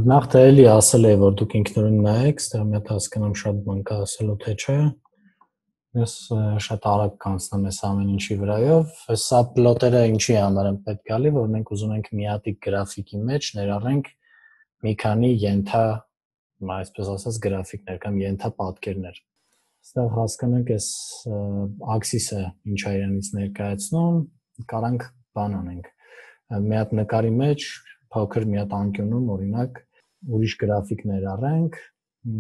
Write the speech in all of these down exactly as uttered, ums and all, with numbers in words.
Նախ թե էլի ասել է, որ դուք ինքնուրույն նայեք, ստեղ մի հատ հասկանամ շատ բան կա ասելու թե չէ։ Ես շատ արագ կանցնեմ այս ամեն ինչի վրայով։ Սա պլոտերը ինչի համար են պետք գալի, որ մենք ուզում ենք մի հատիկ գրաֆիկի մեջ ներառենք մի քանի ենթա, այսպես ասած, գրաֆիկներ կամ ենթա պատկերներ։ Այստեղ հասկանանք այս աքսիսը ինչ է իրանից ներկայացնում, կարանք բան անենք։ Մի հատ նկարի մեջ փոքր մի հատ անկյունում, օրինակ, ուրիշ գրաֆիկ ներառենք,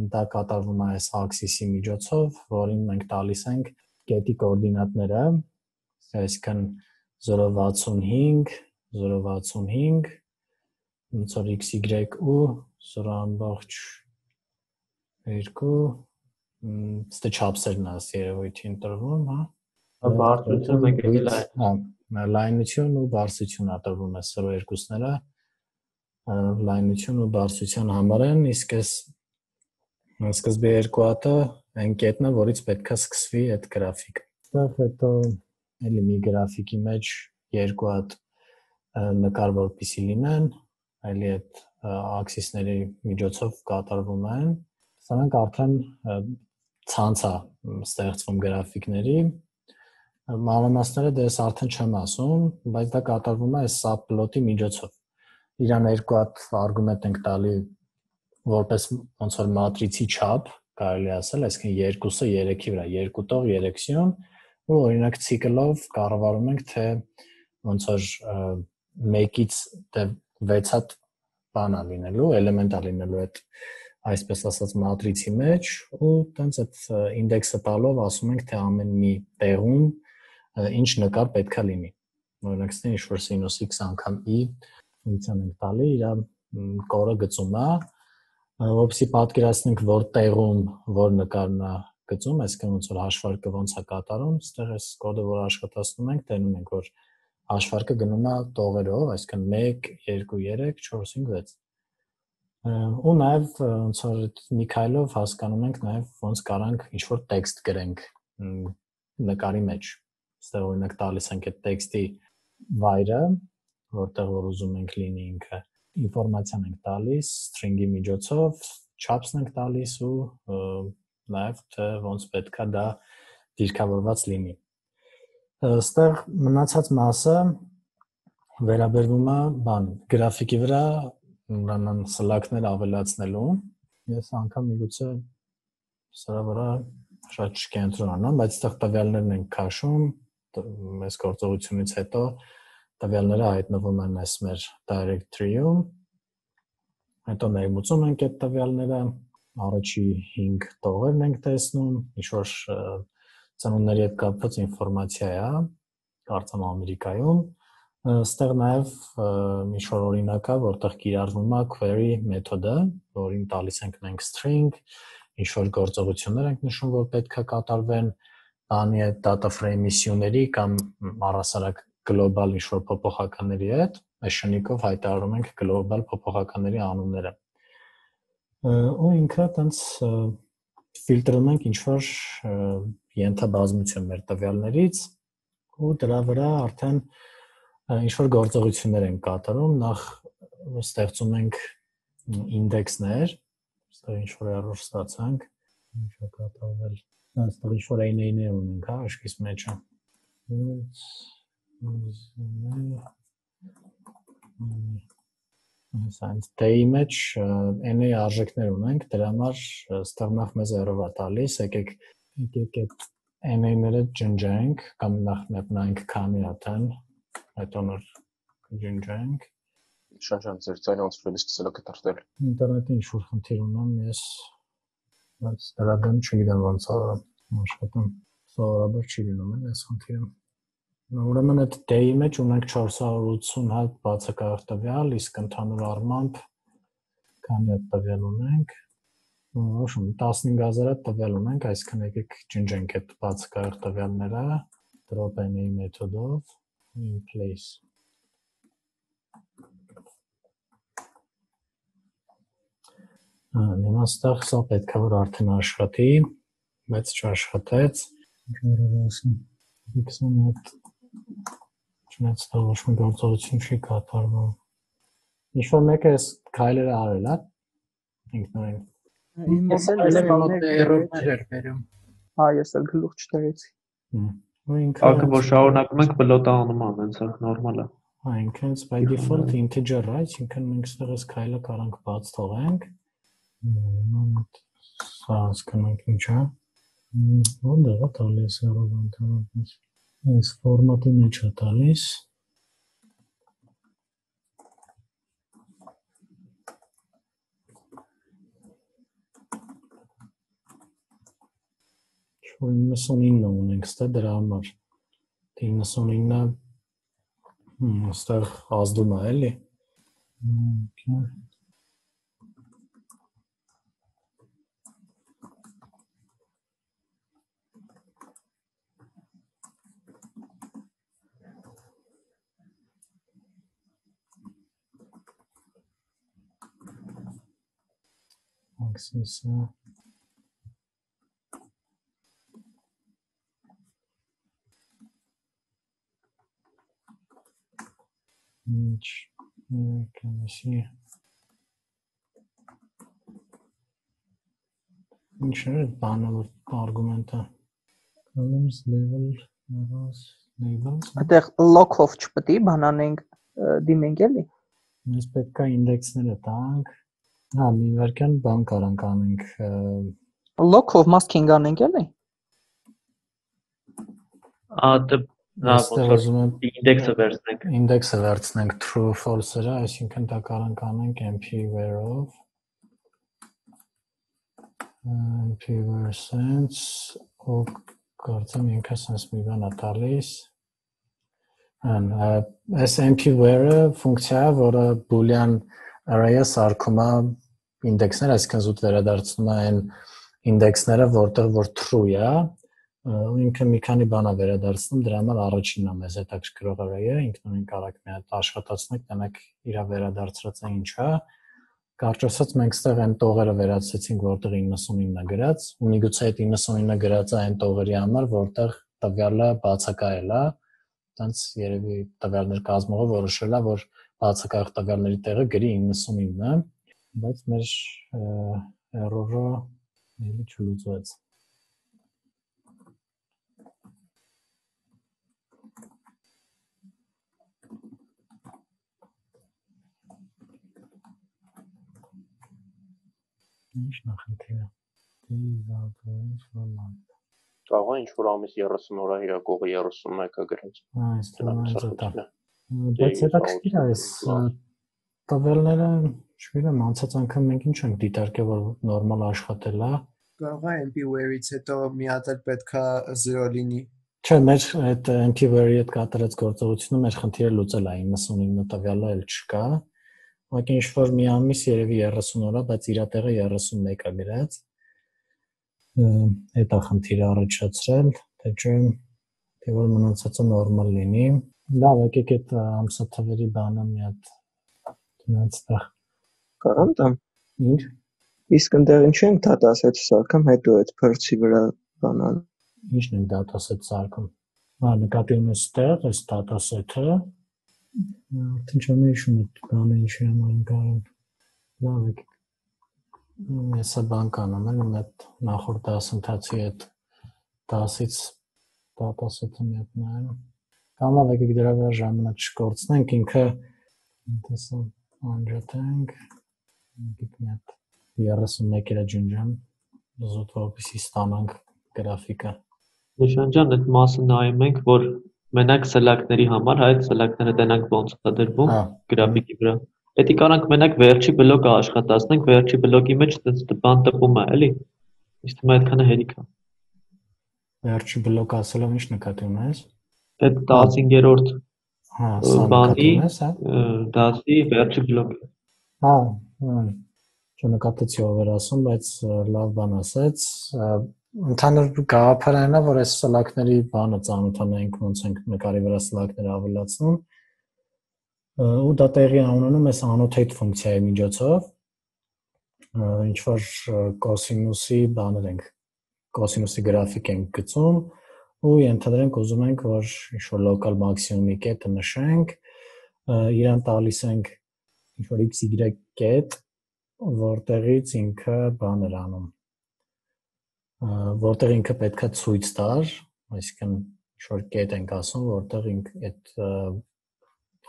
դա կատարվում է այս աքսիսի միջոցով, որին մենք տալիս ենք կետի կոորդինատները, այսինքն զորո վաթսունհինգ, զորո վաթսունհինգ, ոնց որ x, y ու զորո ամբողջ երկու, ստե չափսերն է երևույթի ընտրվում, հա։ Բարձրություն մենք էլ այն։ Հա, լայնություն ու բարձրություն տրվում է սրո երկուսները, լայնություն ու բարձրության համար են, իսկ այս սկզբի երկու հատը այն կետն է, որից պետք է սկսվի այդ գրաֆիկը։ Այստեղ հետո էլի մի գրաֆիկի մեջ երկու հատ նկար որպեսզի լինեն, էլի այդ աքսիսների միջոցով կատարվում են։ Սրանք արդեն ցանց է ստեղծվում գրաֆիկների։ Մանրամասները դե ես արդեն չեմ ասում, բայց դա կատարվում է այս սաբպլոտի միջոցով։ Իրան երկու հատ արգումենտ ենք տալի որպես ոնց որ մատրիցի չափ, կարելի ասել, այսինքն երկուսը երեքի վրա, երկու տող երեք սյուն, ու օրինակ ցիկլով կառավարում ենք, թե ոնց որ մեկից դե վեց հատ բան է լինելու, էլեմենտ է լինելու այդ այսպես ասած մատրիցի մեջ, ու տենց այդ ինդեքսը տալով ասում ենք, թե ամեն մի տեղում ինչ նկար պետք է լինի։ Օրինակ, ստե ինչ-որ սինուս x անգամ i ֆունկցիան ենք տալի, իր կորը գծում է, որպեսզի պատկերացնենք, որ տեղում որ նկարն է գծում, այսինքն ոնց որ հաշվարկը ոնց է կատարում, այստեղ այս կոդը, որ աշխատացնում ենք, տենում ենք, որ հաշվարկը գնում է տողերով, այսինքն մեկ, երկու, երեք, չորս, հինգ, վեց։ Ու նաև ոնց որ մի քայլով հասկանում ենք նաև ոնց կարանք ինչ-որ տեքստ գրենք նկարի մեջ։ Այստեղ օրինակ տալիս ենք այդ տեքստի վայրը, որտեղ որ ուզում ենք լինի ինքը, ինֆորմացիան ենք տալիս string-ի միջոցով, չափսն ենք տալիս ու նաև թե ոնց պետք է դա դիրքավորված լինի։ Այստեղ մնացած մասը վերաբերվում է բան, գրաֆիկի վրա ուրեմն սլակներ ավելացնելու։ Ես անգամ միգուցե սրա վրա շատ չկենտրոնանամ, բայց այստեղ տվյալներն ենք քաշում, այս գործողությունից հետո տվյալները հայտնվում են այս մեր directory-ում, հետո ներմուծում ենք այդ տվյալները, առաջի հինգ տողերն ենք տեսնում, ինչ-որ ծնունդների հետ կապված ինֆորմացիա է, կարծեմ Ամերիկայում, այստեղ նաև ինչ-որ օրինակ է, որտեղ կիրառվում է query մեթոդը, որին տալիս ենք մենք string, ինչ-որ գործողություններ ենք նշում, որ պետք է կատարվեն բանի այդ data frame-ի սյուների կամ առհասարակ գլոբալ ինչ-որ փոփոխականների հետ, այս շնիկով հայտարարում ենք գլոբալ փոփոխականների անունները։ Ու ինքը տենց ֆիլտրում ենք ինչ-որ ենթաբազմություն մեր տվյալներից ու դրա վրա արդեն ինչ-որ գործողություններ ենք կատարում, նախ ստեղծում ենք ինդեքսներ, այստեղ ինչ-որ error ստացանք, ինչ է կատարվել, այստեղ ինչ-որ էն-էյներ ունենք, հա, աշկիս մեջը։ Այս դեի մեջ էն-էյ արժեքներ ունենք, դրա համար այստեղ նախ մեզ error է տալիս, եկեք եկեք այդ էն-էյները ջնջենք, կամ նախ նայենք քանի հատ են, հետո նոր ջնջենք։ Շանշան ձեր ձայնը ոնց որ էլի սկսել է կտրտել։ Ինտերնետի ինչ-որ խնդիր ունեմ, ես բայց դրա դեմ չգիտեմ ոնց է աշխատում, սովորաբար չի լինում էլ այս խնդիրը։ Ուրեմն այդ դեի մեջ ունենք չորս հարյուր ութսուն հատ բացակայող տվյալ, իսկ ընդհանուր առմամբ քանի հատ տվյալ ունենք, ոչմ տասնհինգ հազար հատ տվյալ ունենք, այսինքն եկեք ջնջենք այդ բացակայող տվյալները drop any մեթոդով in place։ Հիմա այստեղ սա պետք է որ արդեն աշխատի, բայց չաշխատեց։ X-ում հետ չնայած դա ոչ մի գործողություն չի կատարվում։ Ինչ-որ մեկը այս քայլերը արել է, ինքնուրույն։ Ես էլ Այլև մոտ էրորներ էր բերում։ Հա, ես էլ գլուխ չտերեցի։ Ու ինքը Ակը որ շարունակում ենք բլոտ անում ան, հենց նորմալ է։ Հա, ինքը by default integer, right, ինքը մենք ստեղից քայլը կարանք բաց թողենք։ Սա հասկանանք ինչ է։ Ո՞նտեղ է տալիս առողջանալուց։ Այս ֆորմատի մեջ է տալիս։ իննսունինը ունենք ստե դրա համար իննսունինը ստեղ ազդում է էլի աքսիսը Ինչ կանեսի ինչ է բանը որ արգումենտը columns level arrows labels Այդտեղ lock-off չպետք է բանանենք դիմենք էլի Մենք պետք է ինդեքսները տանք հա մի վարքան բան կարանք անենք lock-off masking անենք էլի Ա դե Հա, ինդեքսը վերցնենք։ Ինդեքսը վերցնենք true false-ը, այսինքն դա կարանք անենք mp_var-ով mp_var sense ու կարծեմ ինքը sense մի բան է տալիս Ան այս mp_var-ը ֆունկցիա է, որը boolean array-ը սարքում է ինդեքսներ, այսինքն զուտ վերադարձնում է այն ինդեքսները, որտեղ որ true է ու ինքը մի քանի բան է վերադարձնում, դրա համար առաջինն է մեզ հետաքրքրող array-ը, ինքնուրույն կարանք մի հատ աշխատացնենք, տենեք իր վերադարձրած է ինչ է։ Կարճ ասած մենք ստեղ այն տողերը վերացրեցինք, որտեղ իննսունինն է գրած, ու միգուցե այդ իննսունինը գրած է այն տողերի համար, որտեղ տվյալը բացակայել է, տենց երևի տվյալներ կազմողը որոշել է, որ բացակայող տվյալների տեղը գրի իննսունինն է, բայց մեր error-ը էլի չլուծվեց։ Ինչ նախնդիրը։ Դիզակորից ֆորմատ։ Կարող է ինչ-որ ամիս երեսուն օրա իրակողը երեսունմեկը գրած։ Հա, այս տղան Բայց հետաքրքիր է այս տվյալները, չգիտեմ, անցած անգամ մենք ինչ ենք դիտարկել, որ նորմալ աշխատել է։ Կարող է mp_var-ից հետո մի հատ էլ պետքա զիրո լինի։ Չէ, մեր այդ mp_var-ի հետ կատարած գործողությունը մեր խնդիրը լուծել է, իննսունինը տվյալը էլ չկա։ Ուղղակի ինչ-որ մի ամիս երևի երեսուն օրա, բայց իր տեղը երեսունմեկ է գրած։ Այդ է խնդիրը առաջացրել, թե չէ, թե որ մնացածը նորմալ լինի։ Լավ, եկեք այդ ամսաթվերի բանը մի հատ դրանցտեղ Կարամ տամ։ Ինչ։ Իսկ ընդեղ ինչ ենք դատասեթ սարքում, հետո այդ փրկի վրա բանան։ Ինչն ենք դատասեթ սարքում։ Հա, նկատի ունես ստեղ, այս դատասեթը Արդեն չեմ հիշում այդ բանը ինչի համար ենք արում։ Լավ եկեք։ Հեսա բան կանեմ, էլ մետ նախորդ դասընթացի այդ դասից դատասեթը մի հատ նայեմ։ Կամ լավ եկեք դրա վրա ժամանակ չկորցնենք, ինքը տեսա անջատենք։ Եկեք մի հատ երեսունմեկ էրա ջնջեմ, զուտ որպեսզի ստանանք գրաֆիկը։ Նշան ջան, այդ մասը նայում ենք, որ մենակ սելակների համար, այդ սելակները տենանք ոնց է դրվում գրաֆիկի վրա։ Պետք է կարանք մենակ վերջի բլոկը աշխատացնենք, վերջի բլոկի մեջ բան տպում է, էլի։ Իսկ թվում է այդքանը հերիք է։ Վերջի բլոկ ասելով ինչ նկատի ունես։ Այդ տասնհինգերորդ Հա, սա նկատի ունես, հա։ Դասի վերջի բլոկը։ Հա, չնկատեցի ով էր ասում, բայց լավ բան ասեց։ Ընդհանուր գաղափարն է, որ այս սլակների բանը ծանոթանայինք ոնց ենք նկարի վրա սլակները ավելացնում։ Ու դա տեղի ունենում այս annotate ֆունկցիայի միջոցով, ինչ որ կոսինուսի բաներ ենք, կոսինուսի գրաֆիկ ենք գծում ու ենթադրենք ուզում ենք, որ ինչ որ local maximum-ի կետը նշենք, իրան տալիս ենք ինչ որ x y կետ որտեղից ինքը բան էր անում։ Որտեղ ինքը պետքա ցույց տար, այսինքն ինչ-որ կետ ենք ասում, որտեղ ինք այդ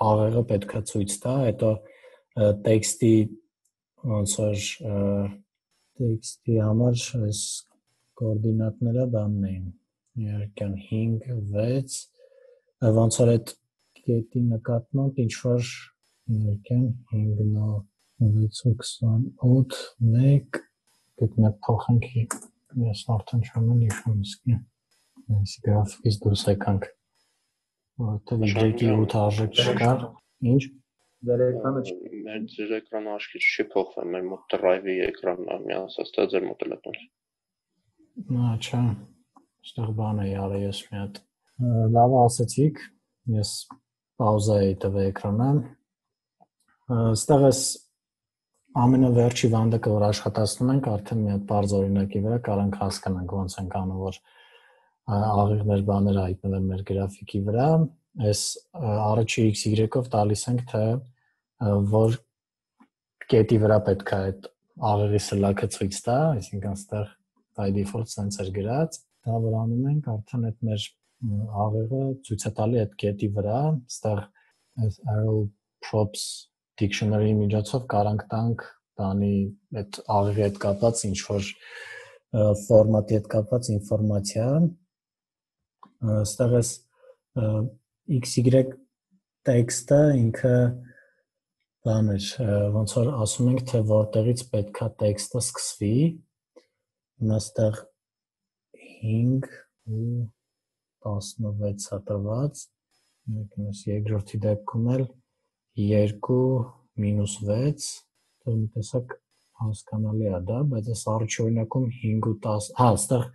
աղեղը պետքա ցույց տա, հետո տեքստի ոնց որ տեքստի համար այս կոորդինատները բանն էին, իհարկե հինգ, վեց, ոնց որ այդ կետի նկատմամբ ինչ-որ իհարկե հինգ, վեց ու քսանութ, մեկ, գտնեք փոխենք, ես արդեն չեմ էլ իշխում իսկի, այս գրաֆիկից դուրս եկանք, որտեղ Y-ի ութ արժեք չկար, ինչ? Ձեր էկրանը չի։ Մեր ձեր էկրանը աչքից չի փոխվել, մեր մոտ drive-ի էկրանն է միացած, դա ձեր մոտ էլ է տոնց։ Նա չէ, այստեղ բան է յարը ես մի հատ։ Լավ ասեցիք, ես պաուզա էի տվել էկրանը։ Այստեղ ես ամենավերջի վանդակը, որ աշխատացնում ենք, արդեն մի հատ բարձ օրինակի վրա կարանք հասկանանք ոնց ենք անում, որ աղիղներ բաները հայտնվեն մեր գրաֆիկի վրա, այս առաջի X Y-ով տալիս ենք, թե որ կետի վրա պետք է այդ աղեղի սլաքը ցույց տա, այսինքն այստեղ by default sense էր գրած, դա որ անում ենք, արդեն այդ մեր աղեղը ցույց է տալի այդ կետի վրա, այստեղ այս arrow props dictionary-ի միջոցով կարանք տանք բանի այդ աղեղի հետ կապված ինչ-որ ֆորմատի հետ կապված ինֆորմացիա, այստեղ այս X Y տեքստը ինքը բան էր, ոնց որ ասում ենք, թե որտեղից պետքա տեքստը սկսվի, հիմա այստեղ հինգ ու տասնվեց է տրված, երկրորդի դեպքում էլ երկու մինուս վեց, դեռ մի տեսակ հասկանալի է դա, բայց այս առաջի օրինակում հինգ ու տաս, հա, այստեղ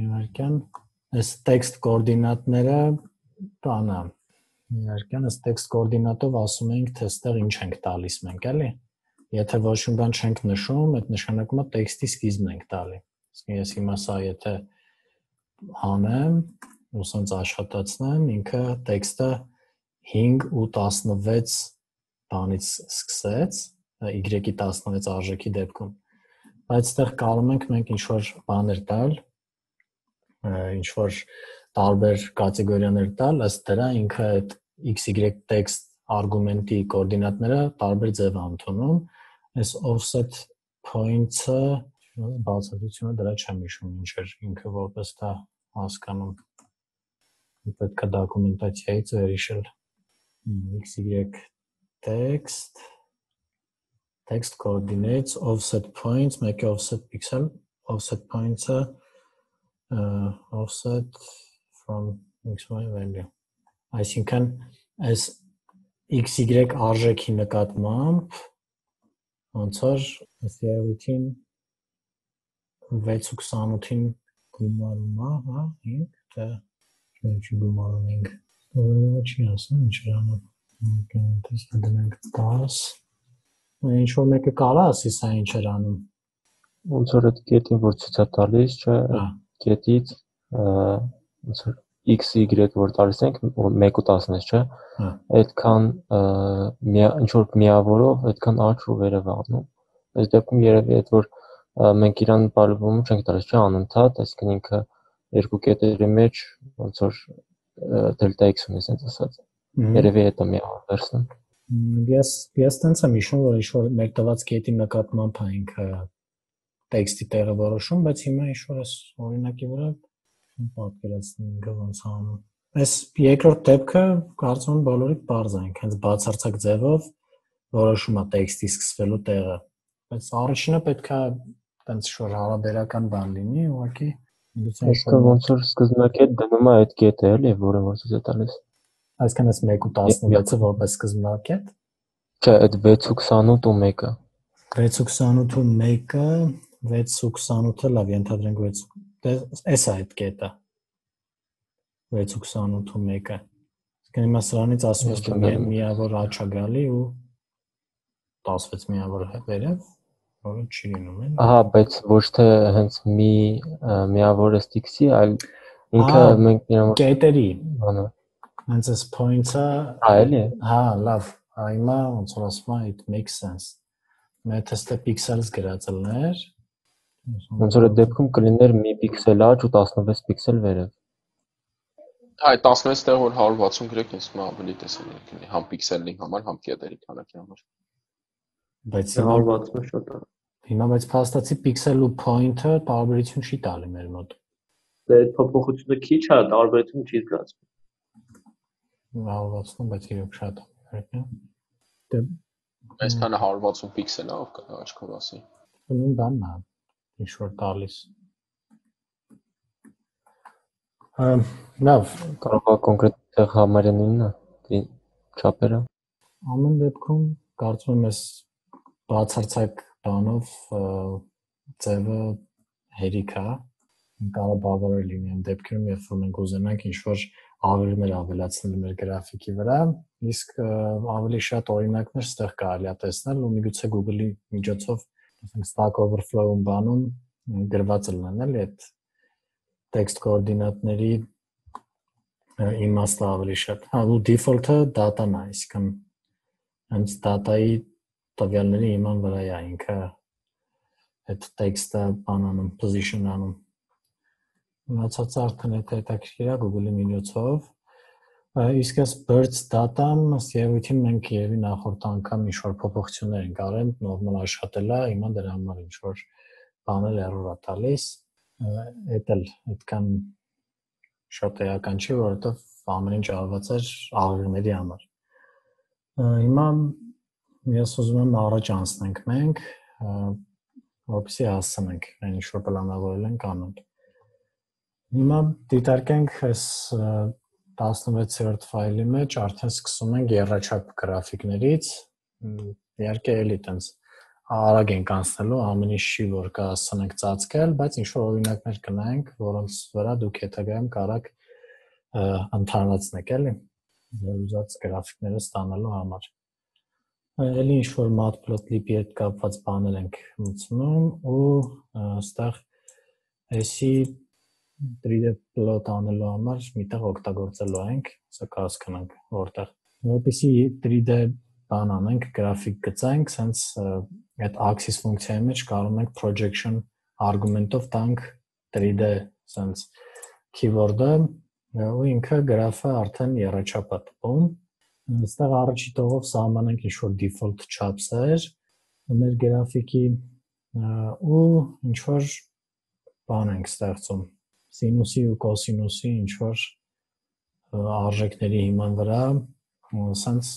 իհարկե այս տեքստ կոորդինատները բանա, իհարկե այս տեքստ կոորդինատով ասում ենք, թե այստեղ ինչ ենք տալիս մենք, էլի, եթե ոչ մի բան չենք նշում, այդ նշանակում է տեքստի սկիզբն ենք տալի, իսկ ես հիմա սա եթե հանեմ, ու սենց աշխատացնեմ, ինքը տեքստը հինգ ու տասնվեց բանից սկսեց, Y-ի տասնվեց արժեքի դեպքում, բայց այստեղ կարում ենք մենք ինչ-որ բաներ տալ, ինչ-որ տարբեր կատեգորիաներ տալ, ըստ դրա ինքը այդ X Y text արգումենտի կոորդինատները տարբեր ձև է ընդունում, այս offset points-ը բացատրությունը դրա չեմ հիշում ինչ էր ինքը որպես դա հասկանում, պետք է դոկումենտացիայից վերհիշել X Y text text coordinates offset points, մեկը offset pixel, offset points-ը uh, offset from X Y value, այսինքն այս X Y արժեքի նկատմամբ ոնց որ այս երևույթին վեց ու քսանութին գումարում է, հա, հինգ, թե չի գումարում հինգ, ովերը չի ասում, ինչ էր անում, տեսնա դնենք տաս, ինչ-որ մեկը կարա ասի սա ինչ էր անում, ոնց որ այդ կետին, որ ցույց է տալիս, չէ, կետից ոնց որ X Y որ տալիս ենք, մեկ ու տասնից, չէ, այդքան ինչ-որ միավորով, այդքան աճ ու վերև անում, այս դեպքում երևի այդ որ մենք իրան բարելվում չենք տալիս, չէ, անընդհատ, այսինքն ինքը երկու կետերի մեջ ոնց որ delta x ունի, ասած ասած, երևի հետո միավոր վերցնում։ Ես ես տենց եմ հիշում, որ ինչ-որ մեր տված կետի նկատմամբ է ինքը տեքստի տեղը որոշում, բայց հիմա ինչ-որ այս օրինակի վրա պատկերացնում ինքը ոնց անում։ Այս երկրորդ դեպքը կարծում եմ բոլորիդ բարձ է, հենց բացարձակ ձևով որոշում է տեքստի սկսվելու տեղը, բայց առաջինը պետք է տենց ինչ-որ հարաբերական բան լինի, ուղղակի այսինքն ոնց որ սկզբնակետ դնում է այդ կետը, էլի, որը որ ցույց է տալիս։ Այսինքն այս մեկ ու տասնվեցը որպես սկզբնակետ։ Չէ, այդ վեց ու քսանութ ու մեկը։ վեց ու քսանութ ու մեկը, վեց ու քսանութը լավ, ենթադրենք վեց, էս է այդ կետը։ վեց ու քսանութ ու մեկը։ Այսինքն հիմա սրանից ասում ես թե միավոր աճ է գալի ու տասնվեց միավոր վերև, որը չի լինում է։ Ահա, բայց ոչ թե հենց մի միավոր x-ի, այլ ինքը մենք իրան կետերի բանը հենց այս point-ը, այլ է։ հա, լավ, հիմա ոնց որ ասում է, it makes sense։ Meta-ը pixels գրած լիներ։ Ոնց որ այդ դեպքում կլիներ մի պիքսել աջ ու տասնվեց պիքսել վերև։ Այ տասնվեց տեղ որ հարյուր վաթսուն գրեք, ինձ մա ավելի տեսանելի կլինի, համ պիքսելի համար, համ կետերի քանակի համար։ Բայց հարյուր վաթսուն շատ է։ Հիմա բայց փաստացի pixel ու point-ը տարբերություն չի տալի մեր մոտ։ Դե այդ փոփոխությունը քիչ է, տարբերություն չի զգացվում։ հարյուր վաթսուն, բայց իրոք շատ է։ Դե այսքանը հարյուր վաթսուն պիքսել է, ով կա աչքով ասի։ Նույն բանն է, ինչ որ տալիս։ Լավ, կարող է կոնկրետ տեղ համարյա նույնն է, չափերը։ Ամեն դեպքում կարծում եմ ես բացարձակ բանով ձևը հերիք է, կարող է բավարար լինի այն դեպքում, երբ որ մենք ուզենանք ինչ-որ ավերներ ավելացնել մեր գրաֆիկի վրա, իսկ ավելի շատ օրինակներ ստեղ կարելի է տեսնել ու միգուցե Google-ի միջոցով, ասենք Stack Overflow-ում բանում գրված լինեն էլի այդ text կոորդինատների իմաստը ավելի շատ։ Հա, ու default-ը data-ն է, այսինքն հենց data-ի տվյալների իման վրա է ինքը այդ text-ը բանանում, position-անում։ Մնացածը արդեն հետաքրքիր է Google-ի միջոցով։ Իսկ այս birds data-ն ըստ երևույթին մենք երևի նախորդ անգամ ինչ-որ փոփոխություններ ենք արել, նորմալ աշխատել է, հիմա դրա համար ինչ-որ բաներ error է տալիս։ Էդ էլ այդքան շատ էական չի, որովհետև ամեն ինչ արված էր աղեղների համար։ Հիմա ես ուզում եմ առաջ անցնենք մենք, որպեսզի հասցնենք այն ինչ որ պլանավորել ենք անոտ։ Հիմա դիտարկենք այս տասնվեցերորդ ֆայլի մեջ արդեն սկսում ենք եռաչափ գրաֆիկներից, իհարկե էլի տենց արագ ենք անցնելու, ամեն ինչ չի որ կա հասցնենք ծածկել, բայց ինչ որ օրինակներ կնայենք, որոնց վրա դուք հետագայում կարող ընդհանրացնեք էլի ուզած գրաֆիկները ստանալու համար։ Էլի ինչ որ matplotlib-ի հետ կապված բաներ ենք մտցնում ու այստեղ էսի three D plot անելու համար միտեղ օգտագործելու ենք, սա կհասկանանք որտեղ։ Որպեսզի three D բան անենք, գրաֆիկ գծենք, sense այդ axis ֆունկցիայի մեջ կարող ենք projection argument-ով տանք three D sense keyword-ը ու ինքը գրաֆը արդեն եռաչափ է տպում։ Այստեղ առաջի տողով սահմանենք ինչ-որ default չափսեր մեր գրաֆիկի ու ինչ-որ բան ենք ստեղծում սինուսի ու կոսինուսի ինչ-որ արժեքների հիման վրա sense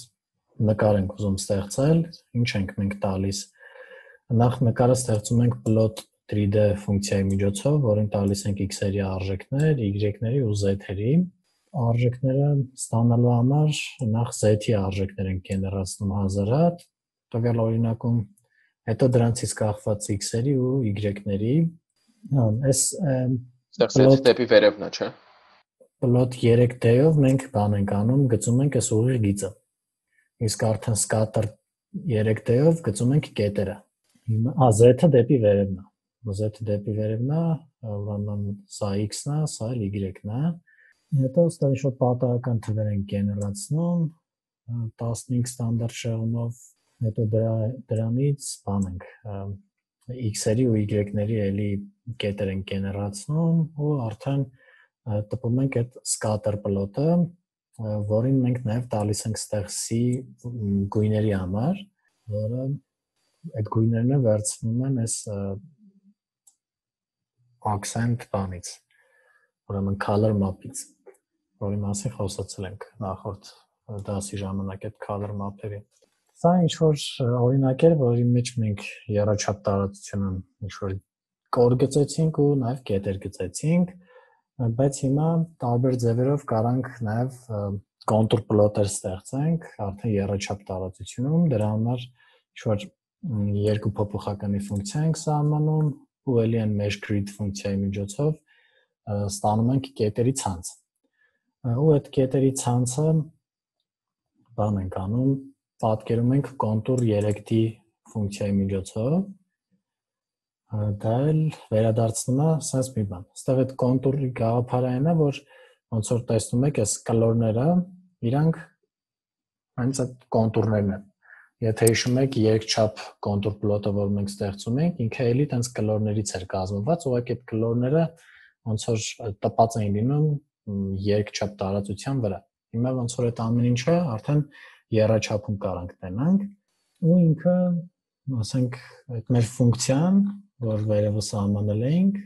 նկար ենք ուզում ստեղծել, ինչ ենք մենք տալիս։ Նախ նկարը ստեղծում ենք plot three D ֆունկցիայի միջոցով, որին տալիս ենք x-երի արժեքներ, y-ների ու z-երի։ Արժեքները ստանալու համար նախ z-ի արժեքներ ենք գեներացնում հազար հատ, տվյալ օրինակում, հետո դրանցից կախված x-երի ու y-ների։ Այս ստեղծել դեպի վերևն է, չէ՞։ Plot three D-ով մենք բան ենք անում, գծում ենք այս ուղիղ գիծը։ Իսկ արդեն scatter three D-ով գծում ենք կետերը։ Հիմա z-ը դեպի վերևն է։ Z-ը դեպի վերևն է, ուրեմն սա x-ն է, սա y-ն է։ Հետո ստեղ ինչ-որ պատահական թվեր ենք գեներացնում տասնհինգ ստանդարտ շեղումով, հետո դրանից բան ենք x-երի ու y-ների էլի կետեր ենք գեներացնում ու արդեն տպում ենք այդ scatter plot-ը, որին մենք նաև տալիս ենք ստեղ c գույների համար, որը այդ գույներն վերցվում են այս accent բանից, ուրեմն color map-ից, որի մասին խոսացել ենք նախորդ դասի ժամանակ այդ color map-երի։ Սա ինչ-որ օրինակ էր, որի մեջ մենք եռաչափ տարածությունը ինչ-որ կոր գծեցինք ու նաև կետեր գծեցինք, բայց հիմա տարբեր ձևերով կարանք նաև contour plot-եր ստեղծենք, արդեն եռաչափ տարածությունում, դրա համար ինչ-որ երկու փոփոխականի ֆունկցիա ենք սահմանում ու էլի այն mesh grid ֆունկցիայի միջոցով ստանում ենք կետերի ցանց։ Ու այդ կետերի ցանցը բան ենք անում, պատկերում ենք contour three D ֆունկցիայի միջոցով, դա էլ վերադարձնում է sense մի բան։ Այստեղ այդ contour-ի գաղափարն է, որ ոնց որ տեսնում եք, այս կլորները, իրանք հենց այդ contour-ներն են։ եթե հիշում եք երկչափ կոնտուր պլոտը, որ մենք ստեղծում ենք, ինքը էլի տենց կլորներից էր կազմված, ուղղակի այդ կլորները ոնց որ տպած էին լինում երկչափ տարածության վրա։ Հիմա ոնց որ այդ ամեն ինչը արդեն եռաչափում կարանք տենանք, ու ինքը, ասենք, այդ մեր ֆունկցիան, որ վերևը սահմանել էինք,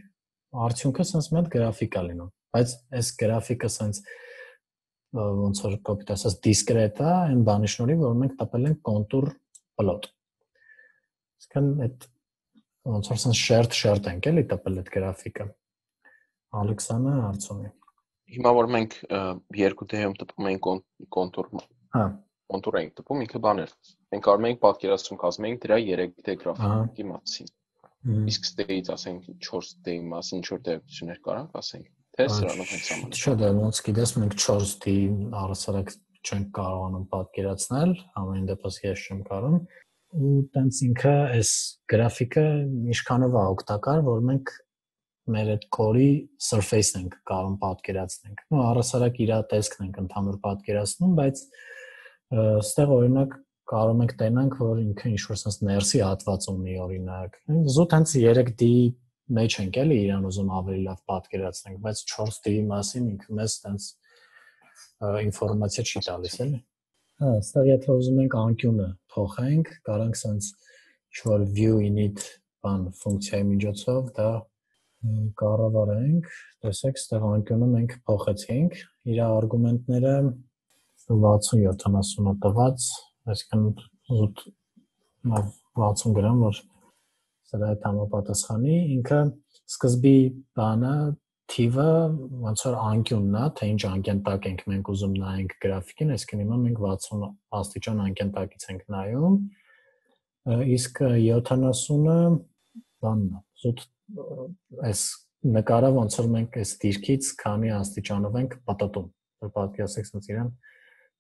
արդյունքը sense մի հատ գրաֆիկ է լինում, բայց այս գրաֆիկը sense ոնց որ կոպիտ ասած դիսկրետ է, այն բանի շնորհիվ, որ մենք տպել ենք կոնտուր պլոտ։ Իսկան այդ ոնց որ sense շերտ շերտ ենք էլի տպել այդ գրաֆիկը։ Ալեքսանը հարցում է։ Հիմա որ մենք երկու դեպքում տպում ենք կոնտուր, հա, կոնտուր ենք տպում, ինքը բաներ։ Մենք կարող ենք պատկերացում կազմենք դրա երեք դե գրաֆիկի մասին։ Իսկ ստեից ասենք չորս դեի մասին ինչ որ տեղություններ կարանք ասենք, թե սրանով հենց ամենը։ Չէ, դա ոնց գիտես, մենք չորս դի առասարակ չենք կարողանում պատկերացնել, ամեն դեպս ես չեմ կարող, ու տենց ինքը այս գրաֆիկը ինչքանով է օգտակար, որ մենք մեր այդ կորի surface-ն ենք կարող պատկերացնենք։ Ну, առասարակ իր տեսքն ենք ընդհանուր պատկերացնում, բայց այստեղ օրինակ կարող ենք տենանք, որ ինքը ինչ-որ sense ներսի հատված ունի, օրինակ։ Զուտ հենց երեք դի մեջ ենք էլի իրան ուզում ավելի լավ պատկերացնենք, բայց չորս դի մասին ինքը մեզ sense ինֆորմացիա չի տալիս, էլի։ Հա, այստեղ եթե ուզում ենք անկյունը փոխենք, կարանք sense ինչ-որ view init բան ֆունկցիայի միջոցով դա կառավարենք, տեսեք, այստեղ անկյունը մենք փոխեցինք, իր արգումենտները վաթսուն յոթանասունը տված, այսինքն զուտ վաթսուն գրամ, որ սրա հետ համապատասխանի, ինքը սկզբի բանը թիվը ոնց որ անկյունն է, թե ինչ անկյան տակ ենք մենք ուզում նայենք գրաֆիկին, այսինքն հիմա մենք վաթսուն աստիճան անկյան տակից ենք նայում, իսկ յոթանասունը բանն է, զուտ այս նկարը ոնց որ մենք այս դիրքից քանի աստիճանով ենք պատտում, որ պատկերացեք sense իրան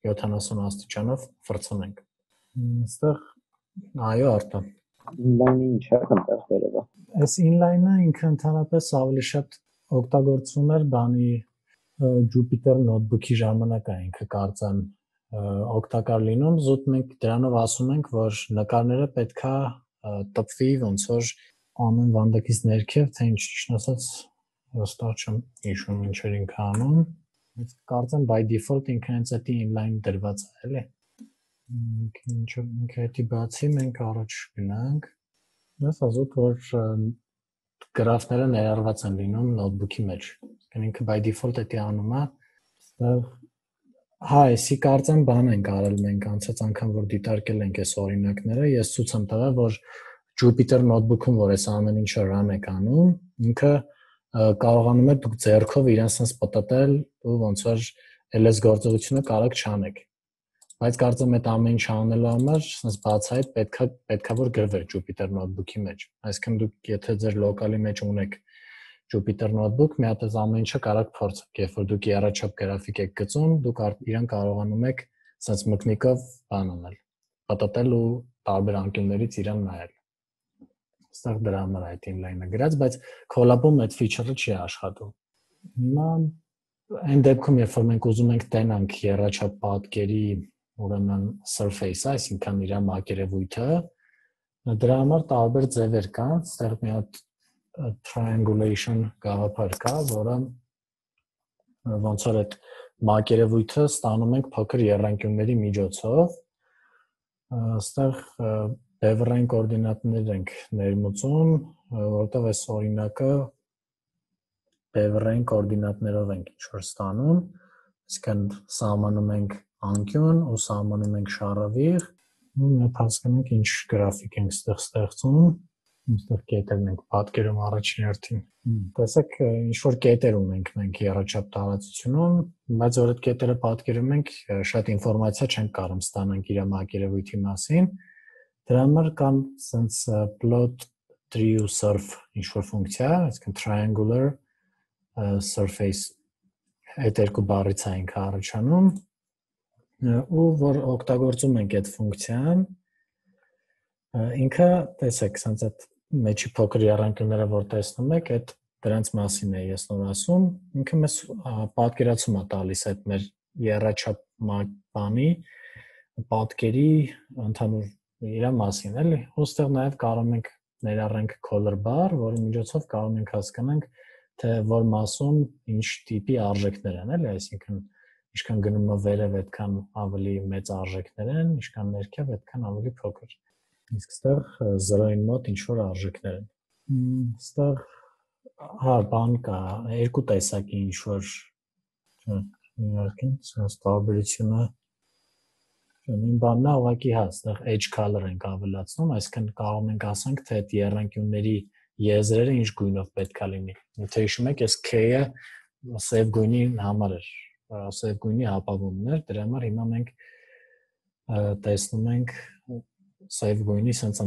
յոթանասուն աստիճանով ֆրցնենք։ Այստեղ այո, արտա։ Inline-ը ինչ է այնտեղ վերևը։ Այս inline-ը ինքը ընդհանրապես ավելի շատ օգտագործվում էր բանի Jupyter notebook-ի ժամանակ է ինքը կարծեմ օգտակար լինում, զուտ մենք դրանով ասում ենք, որ նկարները պետքա տպվի ոնց որ ամեն վանդակից ներքև, թե ինչ ճիշտ ասած հստակ չեմ հիշում ինչեր ինքը անում, բայց կարծեմ by default ինքը հենց այդ inline դրված է, էլի։ Ինչ ինքը էդի բացի մենք առաջ գնանք։ Ես ասում որ գրաֆները ներառված են լինում նոթբուքի մեջ։ Ինքը by default էդի անում է, այստեղ հա, էսի կարծեմ բան ենք արել մենք անցած անգամ որ դիտարկել ենք այս օրինակները, ես ցույց եմ տվել, որ Jupyter notebook-ում որ այս ամեն ինչը run եք անում, ինքը կարողանում է դուք ձեռքով իրան sense պատտել ու ոնց որ էլ էս գործողությունը կարող չանեք։ Բայց կարծեմ այդ ամեն ինչ անելու համար sense բացահայտ պետքա պետքա որ գրվեր Jupyter notebook-ի մեջ։ Այսինքն դուք եթե ձեր լոկալի մեջ ունեք Jupyter notebook, մի հատ այս ամեն ինչը կարող փորձեք, երբ որ դուք եռաչափ գրաֆիկ եք գծում, դուք իրան կարողանում եք sense մկնիկով բան անել, պատտել ու տարբեր անկյուններից իրան նայել։ Այստեղ դրա համար այդ inline-ը գրած, բայց collab-ում այդ feature-ը չի աշխատում։ Հիմա այն դեպքում, երբ որ մենք ուզում ենք տենանք եռաչափ պատկերի, ուրեմն surface-ը, այսինքն իր մակերևույթը, դրա համար տարբեր ձևեր կան, այստեղ մի հատ triangulation գաղափար կա, որը ոնց որ այդ մակերևույթը ստանում ենք փոքր եռանկյունների միջոցով, այստեղ բևեռային կոորդինատներ ենք ներմուծում, որտեղ այս օրինակը բևեռային կոորդինատներով ենք ինչ-որ ստանում, այսինքն սահմանում ենք անկյուն ու սահմանում ենք շարավիղ, ու մենք հասկանանք ինչ գրաֆիկ ենք ստեղ ստեղծում, այստեղ կետերն ենք պատկերում առաջին հերթին։ Տեսեք, ինչ-որ կետեր ունենք մենք եռաչափ տարածությունում, բայց որ այդ կետերը պատկերում ենք, շատ ինֆորմացիա չենք կարող ստանանք իր մակերևույթի մասին։ Դրա համար կան sense plot tree ու surf ինչ-որ ֆունկցիա, այսինքն triangular surface այդ երկու բառից է ինքը առաջանում, ու որ օգտագործում ենք այդ ֆունկցիան, ինքը տեսեք, sense այդ մեջի փոքր եռանկյունները որ տեսնում եք, այդ դրանց մասին է ես նոր ասում, ինքը մեզ պատկերացում է տալիս այդ մեր եռաչափ բանի պատկերի ընդհանուր իր մասին, էլի։ Ոստեղ նաև կարող ենք ներառենք color bar, որի միջոցով կարող ենք հասկանանք, թե որ մասում ինչ տիպի արժեքներ են, էլի, այսինքն ինչքան գնում է վերև, այդքան ավելի մեծ արժեքներ են, ինչքան ներքև, այդքան ավելի փոքր։ Իսկ ստեղ զրոյին մոտ ինչ որ արժեքներ են։ Ստեղ հա բան կա, երկու տեսակի ինչ որ իհարկե, սենց տարբերությունը Նույն բանն է, ուղղակի հա, այստեղ edge color ենք ավելացնում, այսինքն կարող ենք ասենք, թե այդ եռանկյունների եզրերը ինչ գույնով պետք է լինի։ Եթե հիշում եք, այս K-ը սև գույնի համար էր, սև գույնի ապավումն էր, դրա համար հիմա մենք տեսնում ենք սև գույնի սենց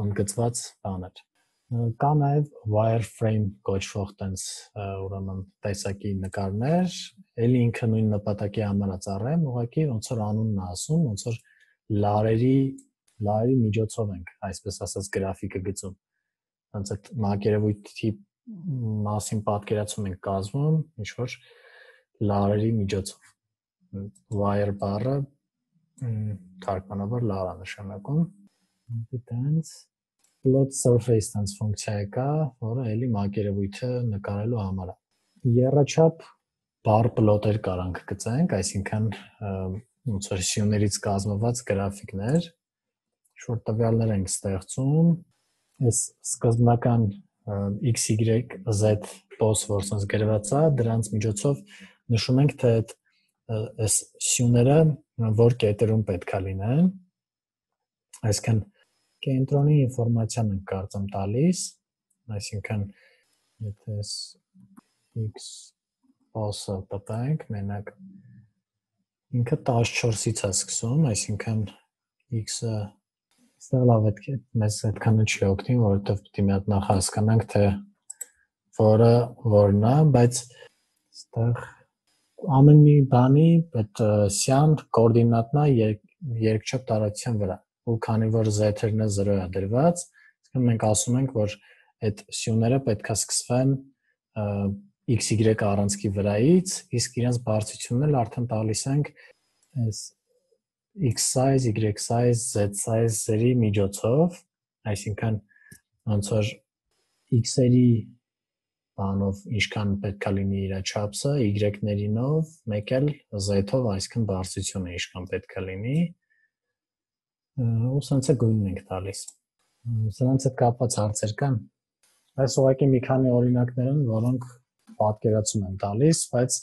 ընդգծված բաներ։ Կա նաև wireframe կոչվող տենց ուրեմն տեսակի նկարներ, էլի ինքը նույն նպատակի համար է ծառայում, ուղղակի ոնց որ անունն է ասում, ոնց որ լարերի լարերի միջոցով ենք, այսպես ասած գրաֆիկը գծում։ Ոնց այդ մակերևույթի մասին պատկերացում ենք կազմում, ինչ որ լարերի միջոցով։ Wire բառը թարգմանաբար լար է նշանակում։ Դրանց plot surface տենց ֆունկցիա կա, որը էլի մակերևույթը նկարելու համար է։ Եռաչափ բար պլոտեր կարանք գծենք, այսինքն ոնց որ սյուներից կազմված գրաֆիկներ, ինչ-որ տվյալներ ենք ստեղծում, այս սկզբնական x, y, z պոս, որ սենց գրված է, դրանց միջոցով նշում ենք, թե այս սյուները որ կետերում պետք է լինեն, այսինքն կենտրոնի ինֆորմացիան ենք կարծեմ տալիս, այսինքն եթե x պոսը տպենք, մենակ ինքը տասնչորսից է սկսում, այսինքն x-ը ստեղ լավ է, մեզ այդքանը չի օգնի, որովհետև պիտի մի հատ նախ հասկանանք, թե որը որն է, բայց ստեղ ամեն մի բանի այդ սյան կոորդինատնա երկչափ տարածության վրա, ու քանի որ z-ը զրո է դրված, մենք ասում ենք, որ այդ սյուները պետք է սկսվեն x, y առանցքի վրայից, իսկ իրենց բարձրությունն էլ արդեն տալիս ենք այս x size, y size, z size-երի միջոցով, այսինքն ոնց որ x-երի բանով ինչքան պետք է լինի իր չափսը, y-ներինով, մեկ էլ z-ով, այսինքն բարձրությունը ինչքան պետք է լինի, ու սենց է գույնն ենք տալիս։ Սրանց հետ կապված հարցեր կան։ Այս ուղղակի մի քանի օրինակներ են, որոնք պատկերացում են տալիս, բայց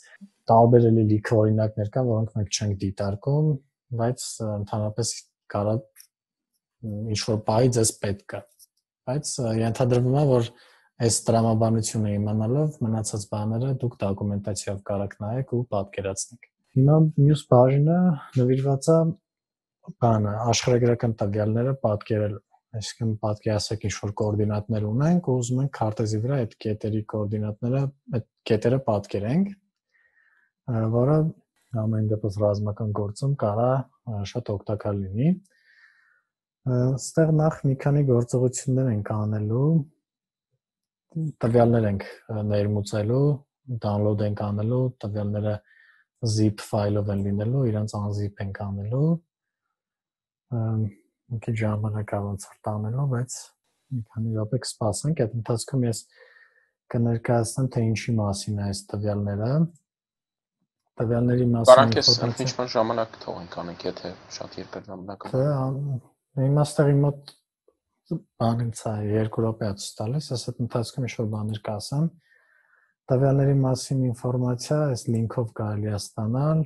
տարբեր էլի լիքը օրինակներ կան, որոնք մենք չենք դիտարկում, բայց ընդհանրապես կարա ինչ-որ բայի ձեզ պետք է։ Բայց ենթադրվում է, որ այս տրամաբանությունը իմանալով մնացած բաները դուք դոկումենտացիայով կարաք նայեք ու պատկերացնեք։ Հիմա մյուս բաժինը նվիրված է բանը աշխարհագրական տվյալները պատկերելու, այսինքն պատկերացրեք ինչ-որ կոորդինատներ ունենք ու ուզում ենք քարտեզի վրա այդ կետերի կոորդինատները, այդ կետերը պատկերենք, որը ամեն դեպս ռազմական գործում կարա շատ օգտակար լինի։ Այստեղ նախ մի քանի գործողություններ ենք անելու, տվյալներ ենք ներմուծելու, download ենք անելու, տվյալները zip ֆայլով են լինելու, իրանց unzip ենք անելու, մի քիչ ժամանակ ոնց որ տանելու, բայց մի քանի րոպե կսպասենք, այդ ընթացքում ես կներկայացնեմ, թե ինչի մասին է այս տվյալները, տվյալների մասին Կարանք ես ինչ-որ ժամանակ թողենք անենք, եթե շատ երկար ժամանակ է։ Հիմա ստեղի մոտ բանից է երկու րոպե է ցույց տալիս, ես այդ ընթացքում ինչ-որ բաներ կասեմ, տվյալների մասին ինֆորմացիա այս լինքով կարելի է ստանալ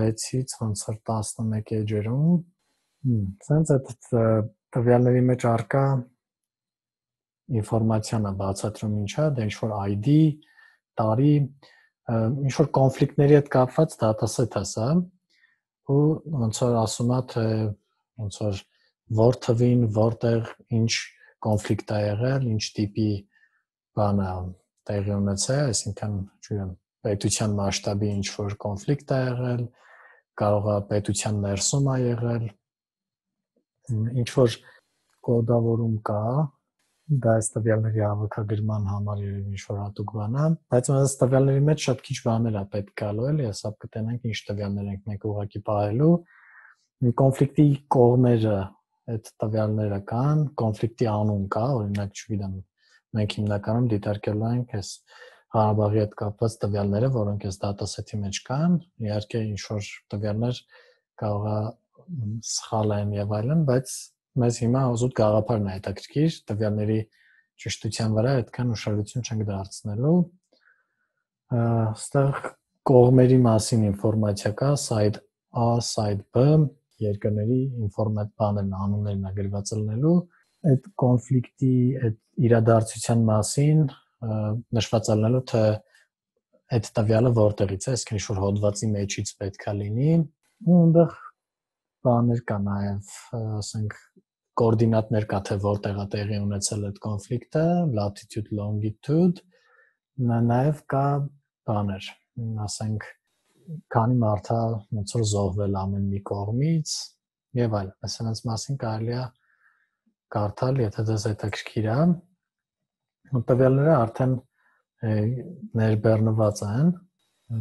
վեցից ոնց որ տասնմեկ էջերում, սենց այդ տվյալների մեջ առկա ինֆորմացիան է բացատրում ինչ է, դա ինչ-որ I D, տարի, ինչ-որ կոնֆլիկտների հետ կապված դատասեթ է սա, ու ոնց որ ասում է, թե ոնց որ որ թվին, որտեղ ինչ կոնֆլիկտ է եղել, ինչ տիպի բան է տեղի ունեցել, այսինքն, չգիտեմ, պետության մասշտաբի ինչ-որ կոնֆլիկտ է եղել, կարող է պետության ներսում է եղել, ինչ-որ կոդավորում կա, դա այս տվյալների հավաքագրման համար երևի ինչ-որ հատուկ բան է, բայց այս տվյալների մեջ շատ քիչ բաներ է պետք գալու, էլի, հեսա կտենանք ինչ տվյալներ ենք մենք ուղղակի պահելու, կոնֆլիկտի կողմերը այդ տվյալները կան, կոնֆլիկտի անուն կա, օրինակ, չգիտեմ, մենք հիմնականում դիտարկելու ենք այս Ղարաբաղի հետ կապված տվյալները, որոնք այս դատասեթի մեջ կան, իհարկե ինչ-որ տվյալներ կարող է սխալ են եւ այլն, բայց մեզ հիմա զուտ գաղափարն է հետաքրքիր, տվյալների ճշտության վրա այդքան ուշադրություն չենք դարձնելու։ Այստեղ կողմերի մասին ինֆորմացիա կա, side A, side B, երկրների ինֆորմատ բաներն անուններն է գրված լինելու, այդ կոնֆլիկտի, այդ իրադարձության մասին նշված լինելու, թե այդ տվյալը որտեղից է, այսինքն ինչ-որ հոդվածի մեջից պետք է լինի, ու այնտեղ բաներ կա նաև, ասենք, կոորդինատներ կա, թե որտեղ է տեղի ունեցել այդ կոնֆլիկտը, latitude, longitude, նաև կա բաներ, ասենք, քանի մարդ է ոնց որ զոհվել ամեն մի կողմից եւ այլն, այսինքն մասին կարելի է կարդալ, եթե դες հետաքրքիր է, ու տվյալները արդեն ներբեռնված են,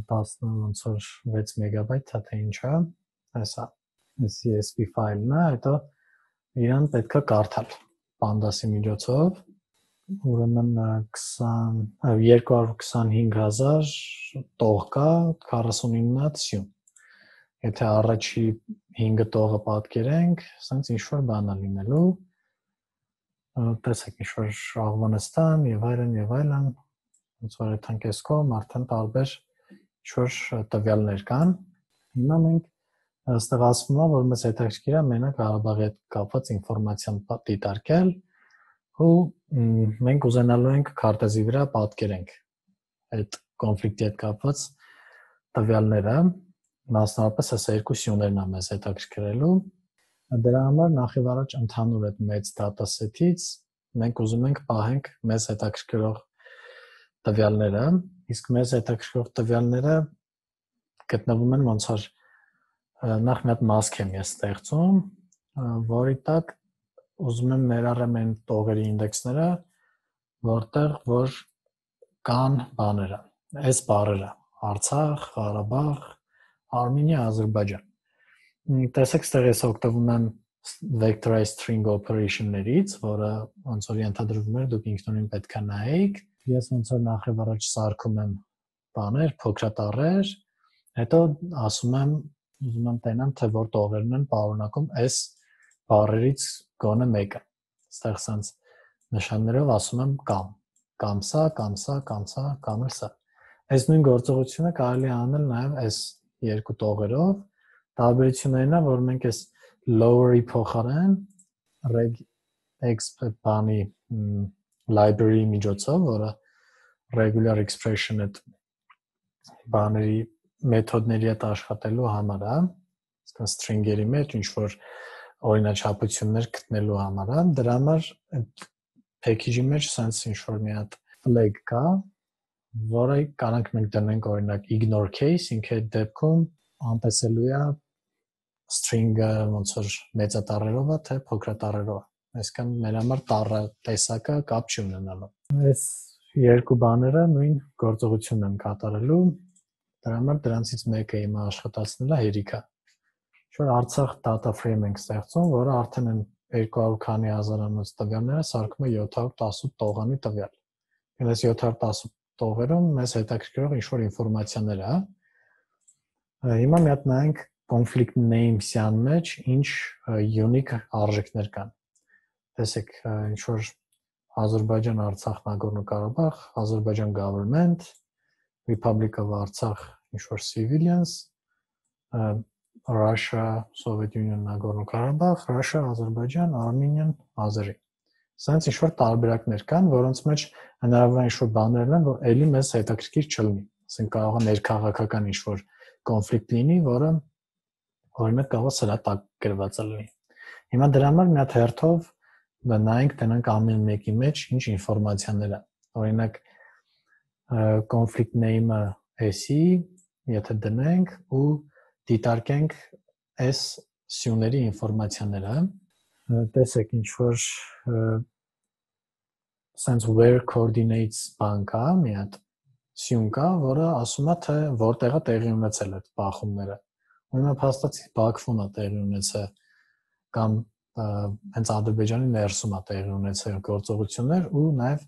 տասը ոնց որ վեց մեգաբայթ, թե ինչ է, այսա C S V ֆայլն է, հետո իրան պետք է կարդալ Pandas-ի միջոցով, ուրեմն երկու հարյուր քսանհինգ հազար տող կա, քառասունինը հատ սյուն, եթե առաջի հինգը տողը պատկերենք, ասենց ինչ-որ բան է լինելու, տեսեք ինչ-որ Աղվանստան եւ այլն եւ այլն, ոնց որ այդ հանկեսկում արդեն տարբեր ինչ-որ տվյալներ կան, հիմա մենք այստեղ ասվում է, որ մեզ հետաքրքիր է մենակ Ղարաբաղի հետ կապված ինֆորմացիան դիտարկել, ու մենք ուզենալու ենք քարտեզի վրա պատկերենք այդ կոնֆլիկտի հետ կապված տվյալները, մասնավորապես այս երկու սյուներն է մեզ հետաքրքրելու, դրա համար նախ եւ առաջ ընդհանուր այդ մեծ դատասեթից մենք ուզում ենք պահենք մեզ հետաքրքրող տվյալները, իսկ մեզ հետաքրքրող տվյալները գտնվում են ոնց որ նախ մի հատ մասք եմ ես ստեղծում, որի տակ ուզում եմ ներառեմ այն տողերի ինդեքսները, որտեղ որ կան բաները, այս բառերը, Արցախ, Ղարաբաղ, Armenia, Ադրբեջան։ Տեսեք, ստեղ ես օգտվում եմ vectorized string operation-ներից, որը ոնց որ ենթադրվում էր, դուք ինքնուրույն պետք է նայեք։ Ես ոնց որ նախ եւ առաջ սարքում եմ բաներ, փոքրատառեր, հետո ասում եմ, ուզում եմ տենամ, թե որ տողերն են պարունակում այս բառերից գոնե մեկը։ Այստեղ սենց նշաններով ասում եմ կամ, կամ սա, կամ սա, կամ սա, կամ էլ սա։ Այս նույն գործողությունը կարելի է անել նաև այս երկու տողերով, տարբերություններն է, որ մենք այս lower-ի փոխարեն regex բանի library միջոցով, որը regular expression այդ բաների մեթոդների հետ աշխատելու համար է, այսինքն string-երի մեջ ինչ-որ օրինաչափություններ գտնելու համար է, դրա համար այդ package-ի մեջ sense ինչ-որ մի հատ flag կա, որը կարանք մենք դնենք օրինակ ignore case, ինքը այդ դեպքում անտեսելու է string-ը ոնց որ մեծատառերով է, թե փոքրատառերով, այսինքն մեր համար տառը տեսակը կապ չի ունենալու։ Այս երկու բաները նույն գործողությունն են կատարելու, դրա համար դրանցից մեկը հիմա աշխատացնելը հերիք է։ Ինչ-որ Արցախ data frame ենք ստեղծում, որը արդեն են երկու հարյուր քանի հազարանոց տվյալները սարքում է յոթ հարյուր տասը տողանի տվյալ։ Այս յոթ հարյուր տասը տողերում մեզ հետաքրքրող ինչ-որ ինֆորմացիաներ է։ Հիմա մի հատ նայենք conflict names-յան մեջ ինչ unique արժեքներ կան։ Տեսեք, ինչ-որ Ադրբեջան, Արցախ, Նագորնո-Ղարաբաղ, Azerbaijan government, Republic of Artsakh, ինչ-որ civilians, Russia, Soviet Union, Nagorno-Karabakh, Russia, Azerbaijan, Armenian, Azeri։ Սենց ինչ-որ տարբերակներ կան, որոնց մեջ հնարավոր է ինչ-որ բաներ են, որ էլի մեզ հետաքրքիր չլինի։ Ասենք կարող է ներքաղաքական ինչ-որ կոնֆլիկտ լինի, որը օրինակ կարող է սրա տակ գրված լինի։ Հիմա դրա համար մի հատ հերթով նայենք, տենանք ամեն մեկի մեջ ինչ ինֆորմացիաներ է։ Օրինակ conflict name-ը էսի, եթե դնենք ու դիտարկենք այս սյուների ինֆորմացիաները, տեսեք ինչ որ sense where coordinates բան կա, մի հատ սյուն կա, որը ասում է, թե որտեղ է տեղի ունեցել այդ բախումները։ Ուրեմն փաստացի Բաքվում է տեղի ունեցել կամ հենց Ադրբեջանի ներսում է տեղի ունեցել գործողություններ ու նաև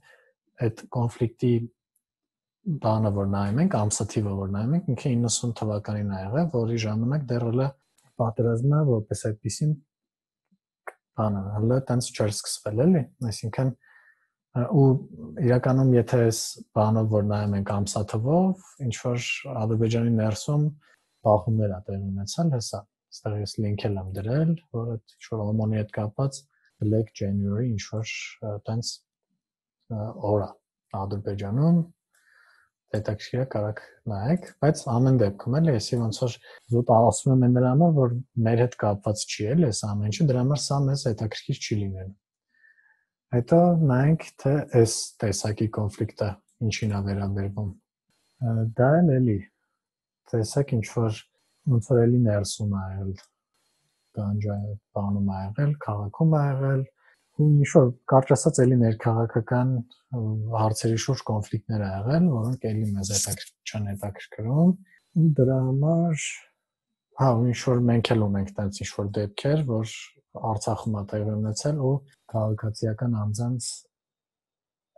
այդ կոնֆլիկտի բանը որ նայում ենք, ամսաթիվը որ նայում ենք, ինքը իննսուն թվականին ա եղել, որի ժամանակ դեռ հələ պատերազմը որպես այդպեսին բանը հələ տենց չէր սկսվել էլի, այսինքն ու իրականում եթե այս բանը որ նայում ենք ամսաթվով, ինչ որ Ադրբեջանի ներսում բախումներ ա տեղի ունեցել, հեսա, այստեղ ես link եմ դրել, որ այդ ինչ որ օմոնի հետ կապված Black January ինչ որ տենց օր ա Ադրբեջանում հետաքրքիր է կարաք նայեք, բայց ամեն դեպքում էլի էսի ոնց որ զուտ ասում եմ նրա համար, որ մեր հետ կապված չի էլի, այս ամեն ինչը, դրա համար սա մեզ հետաքրքիր չի լինելու։ Հետո նայենք, թե այս տեսակի կոնֆլիկտը ինչին է վերաբերվում։ Դա էլ էլի տեսակ ինչ որ ոնց որ էլի ներսում ա եղել, Գանջայի բանում ա եղել, քաղաքում ա եղել, ու ինչ որ կարճ ասած էլի ներքաղաքական հարցերի շուրջ կոնֆլիկտներ ա եղել, որոնք էլի մեզ չեն հետաքրքրում, ու դրա համար հա, ու ինչ որ մենք էլ ունենք տենց ինչ որ դեպքեր, որ Արցախում ա տեղի ունեցել ու քաղաքացիական անձանց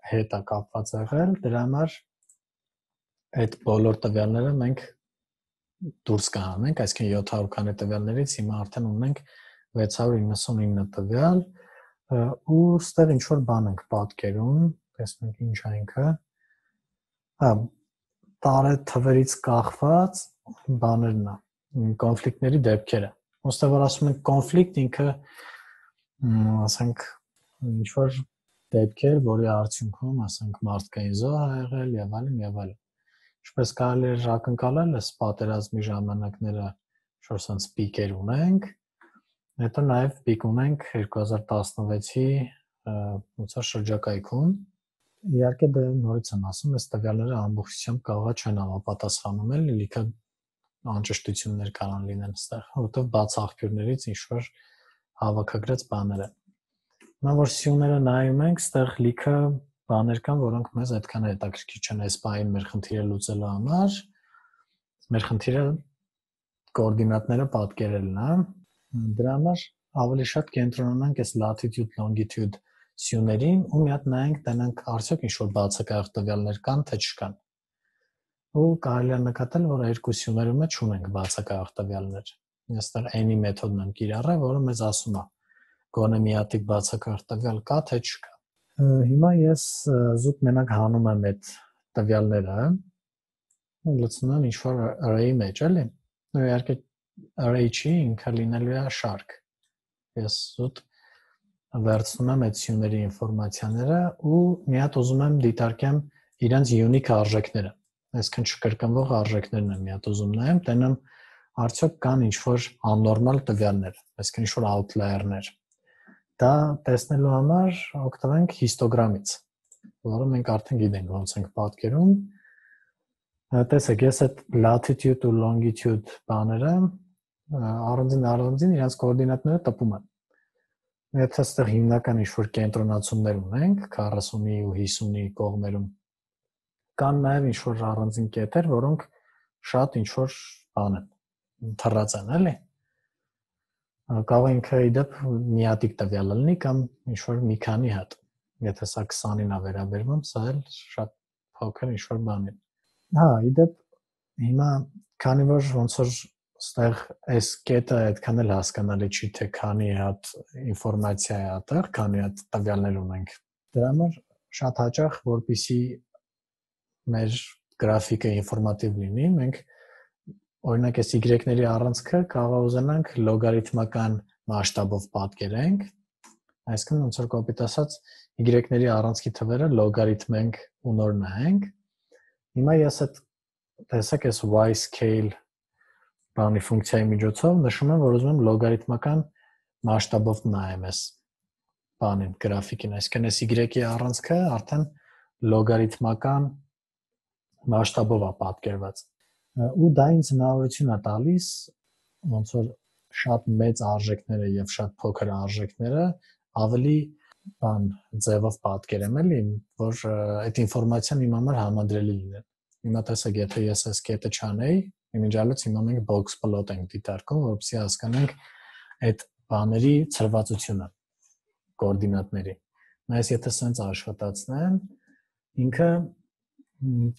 հետ ա կապված եղել, դրա համար այդ բոլոր տվյալները մենք դուրս կանենք, այսինքն յոթ հարյուր քանի տվյալներից հիմա արդեն ունենք վեց հարյուր իննսունինը տվյալ ու ստեղ ինչ որ բան ենք պատկերում, տեսնենք ինչ է ինքը։ Հա, տարե թվերից կախված բաներն է, կոնֆլիկտների դեպքերը։ Ոստեղ որ ասում ենք կոնֆլիկտ ինքը ասենք ինչ որ դեպքեր, որի արդյունքում ասենք մարդկային զոհ ա եղել եւ այլն եւ այլն։ Ինչպես կարելի է ակնկալել, այս պատերազմի ժամանակները ինչ-որ sense պիկեր ունենք, հետո նաև պիկ ունենք երկու հազար տասնվեցի ոնց որ շրջակայքում։ Իհարկե դա նորից եմ ասում, այս տվյալները ամբողջությամբ կարող չեն համապատասխանում էլ, լիքը անճշտություններ կարող լինեն այստեղ, որովհետև բաց աղբյուրներից ինչ-որ հավաքագրած բաներ են։ Հիմա որ սյուները նայում ենք, այստեղ լիքը բաներ կան, որոնք մեզ այդքան հետաքրքիր չեն այս բային մեր խնդիրը լուծելու համար։ Մեր խնդիրը կոորդինատները պատկերելն է։ Դրա համար ավելի շատ կենտրոնանանք այս latitude longitude սյուներին ու մի հատ նայենք, տենանք արդյոք ինչ-որ բացակայող տվյալներ կան, թե չկան։ Ու կարելի է նկատել, որ երկու սյուներում մեջ ունենք բացակայող տվյալներ։ Այստեղ n-ի մեթոդն եմ կիրառել, որը մեզ ասում է գոնե մի հատիկ բացակայող տվյալ կա, թե չկա։ Հիմա ես զուտ մենակ հանում եմ այդ տվյալները, լցնում եմ ինչ-որ array-ի մեջ, էլի։ Ու իհարկե array չի, ինքը լինելու է շարք։ Ես զուտ վերցնում եմ այդ սյուների ինֆորմացիաները ու մի հատ ուզում եմ դիտարկեմ իրենց unique արժեքները։ Այսինքն չկրկնվող արժեքներն եմ մի հատ ուզում նայեմ, տենամ արդյոք կան ինչ-որ աննորմալ տվյալներ, այսինքն ինչ-որ outlier-ներ։ Դա տեսնելու համար օգտվենք հիստոգրամից, որը մենք արդեն գիտենք ոնց ենք պատկերում։ Տեսեք, ես այդ latitude ու longitude բաները առանձին առանձին իրենց կոորդինատները տպում եմ։ Եթե այստեղ հիմնական ինչ-որ կենտրոնացումներ ունենք քառասունի ու հիսունի կողմերում, կան նաև ինչ-որ առանձին կետեր, որոնք շատ ինչ-որ բան են, թռած են, էլի։ Կարող է ինքը իդեպ մի հատիկ տվյալ լինի կամ ինչ-որ մի քանի հատ։ Եթե սա քսանին է վերաբերվում, սա էլ շատ փոքր ինչ-որ բան է։ Հա, իդեպ հիմա քանի որ ոնց որ այստեղ այս կետը այդքան էլ հասկանալի չի, թե քանի հատ ինֆորմացիա է այդտեղ, քանի հատ տվյալներ ունենք։ Դրա համար շատ հաճախ, որպեսզի մեր գրաֆիկը ինֆորմատիվ լինի, մենք օրինակ այս y-ների առանցքը կարող ուզենանք լոգարիթմական մասշտաբով պատկերենք, այսինքն ոնց որ կոպիտ ասած y-ների առանցքի թվերը լոգարիթմենք ու նոր նայենք։ Հիմա ես այդ տեսեք այս y scale բանի ֆունկցիայի միջոցով նշում եմ, որ ուզում եմ լոգարիթմական մասշտաբով նայեմ այս բանին, գրաֆիկին, այսինքն այս y-ի առանցքը արդեն լոգարիթմական մասշտաբով է պատկերված։ Ու դա ինձ հնարավորություն է տալիս ոնց որ շատ մեծ արժեքները եւ շատ փոքր արժեքները ավելի բան ձևով պատկերեմ էլի, որ այդ ինֆորմացիան իմ համար համադրելի լինի։ Հիմա տեսեք, եթե ես այս կետը չանեի, իմիջիալից հիմա մենք box plot ենք դիտարկում, որպեսզի հասկանանք այդ բաների ցրվածությունը կոորդինատների։ Բայց եթե սենց աշխատացնեմ, ինքը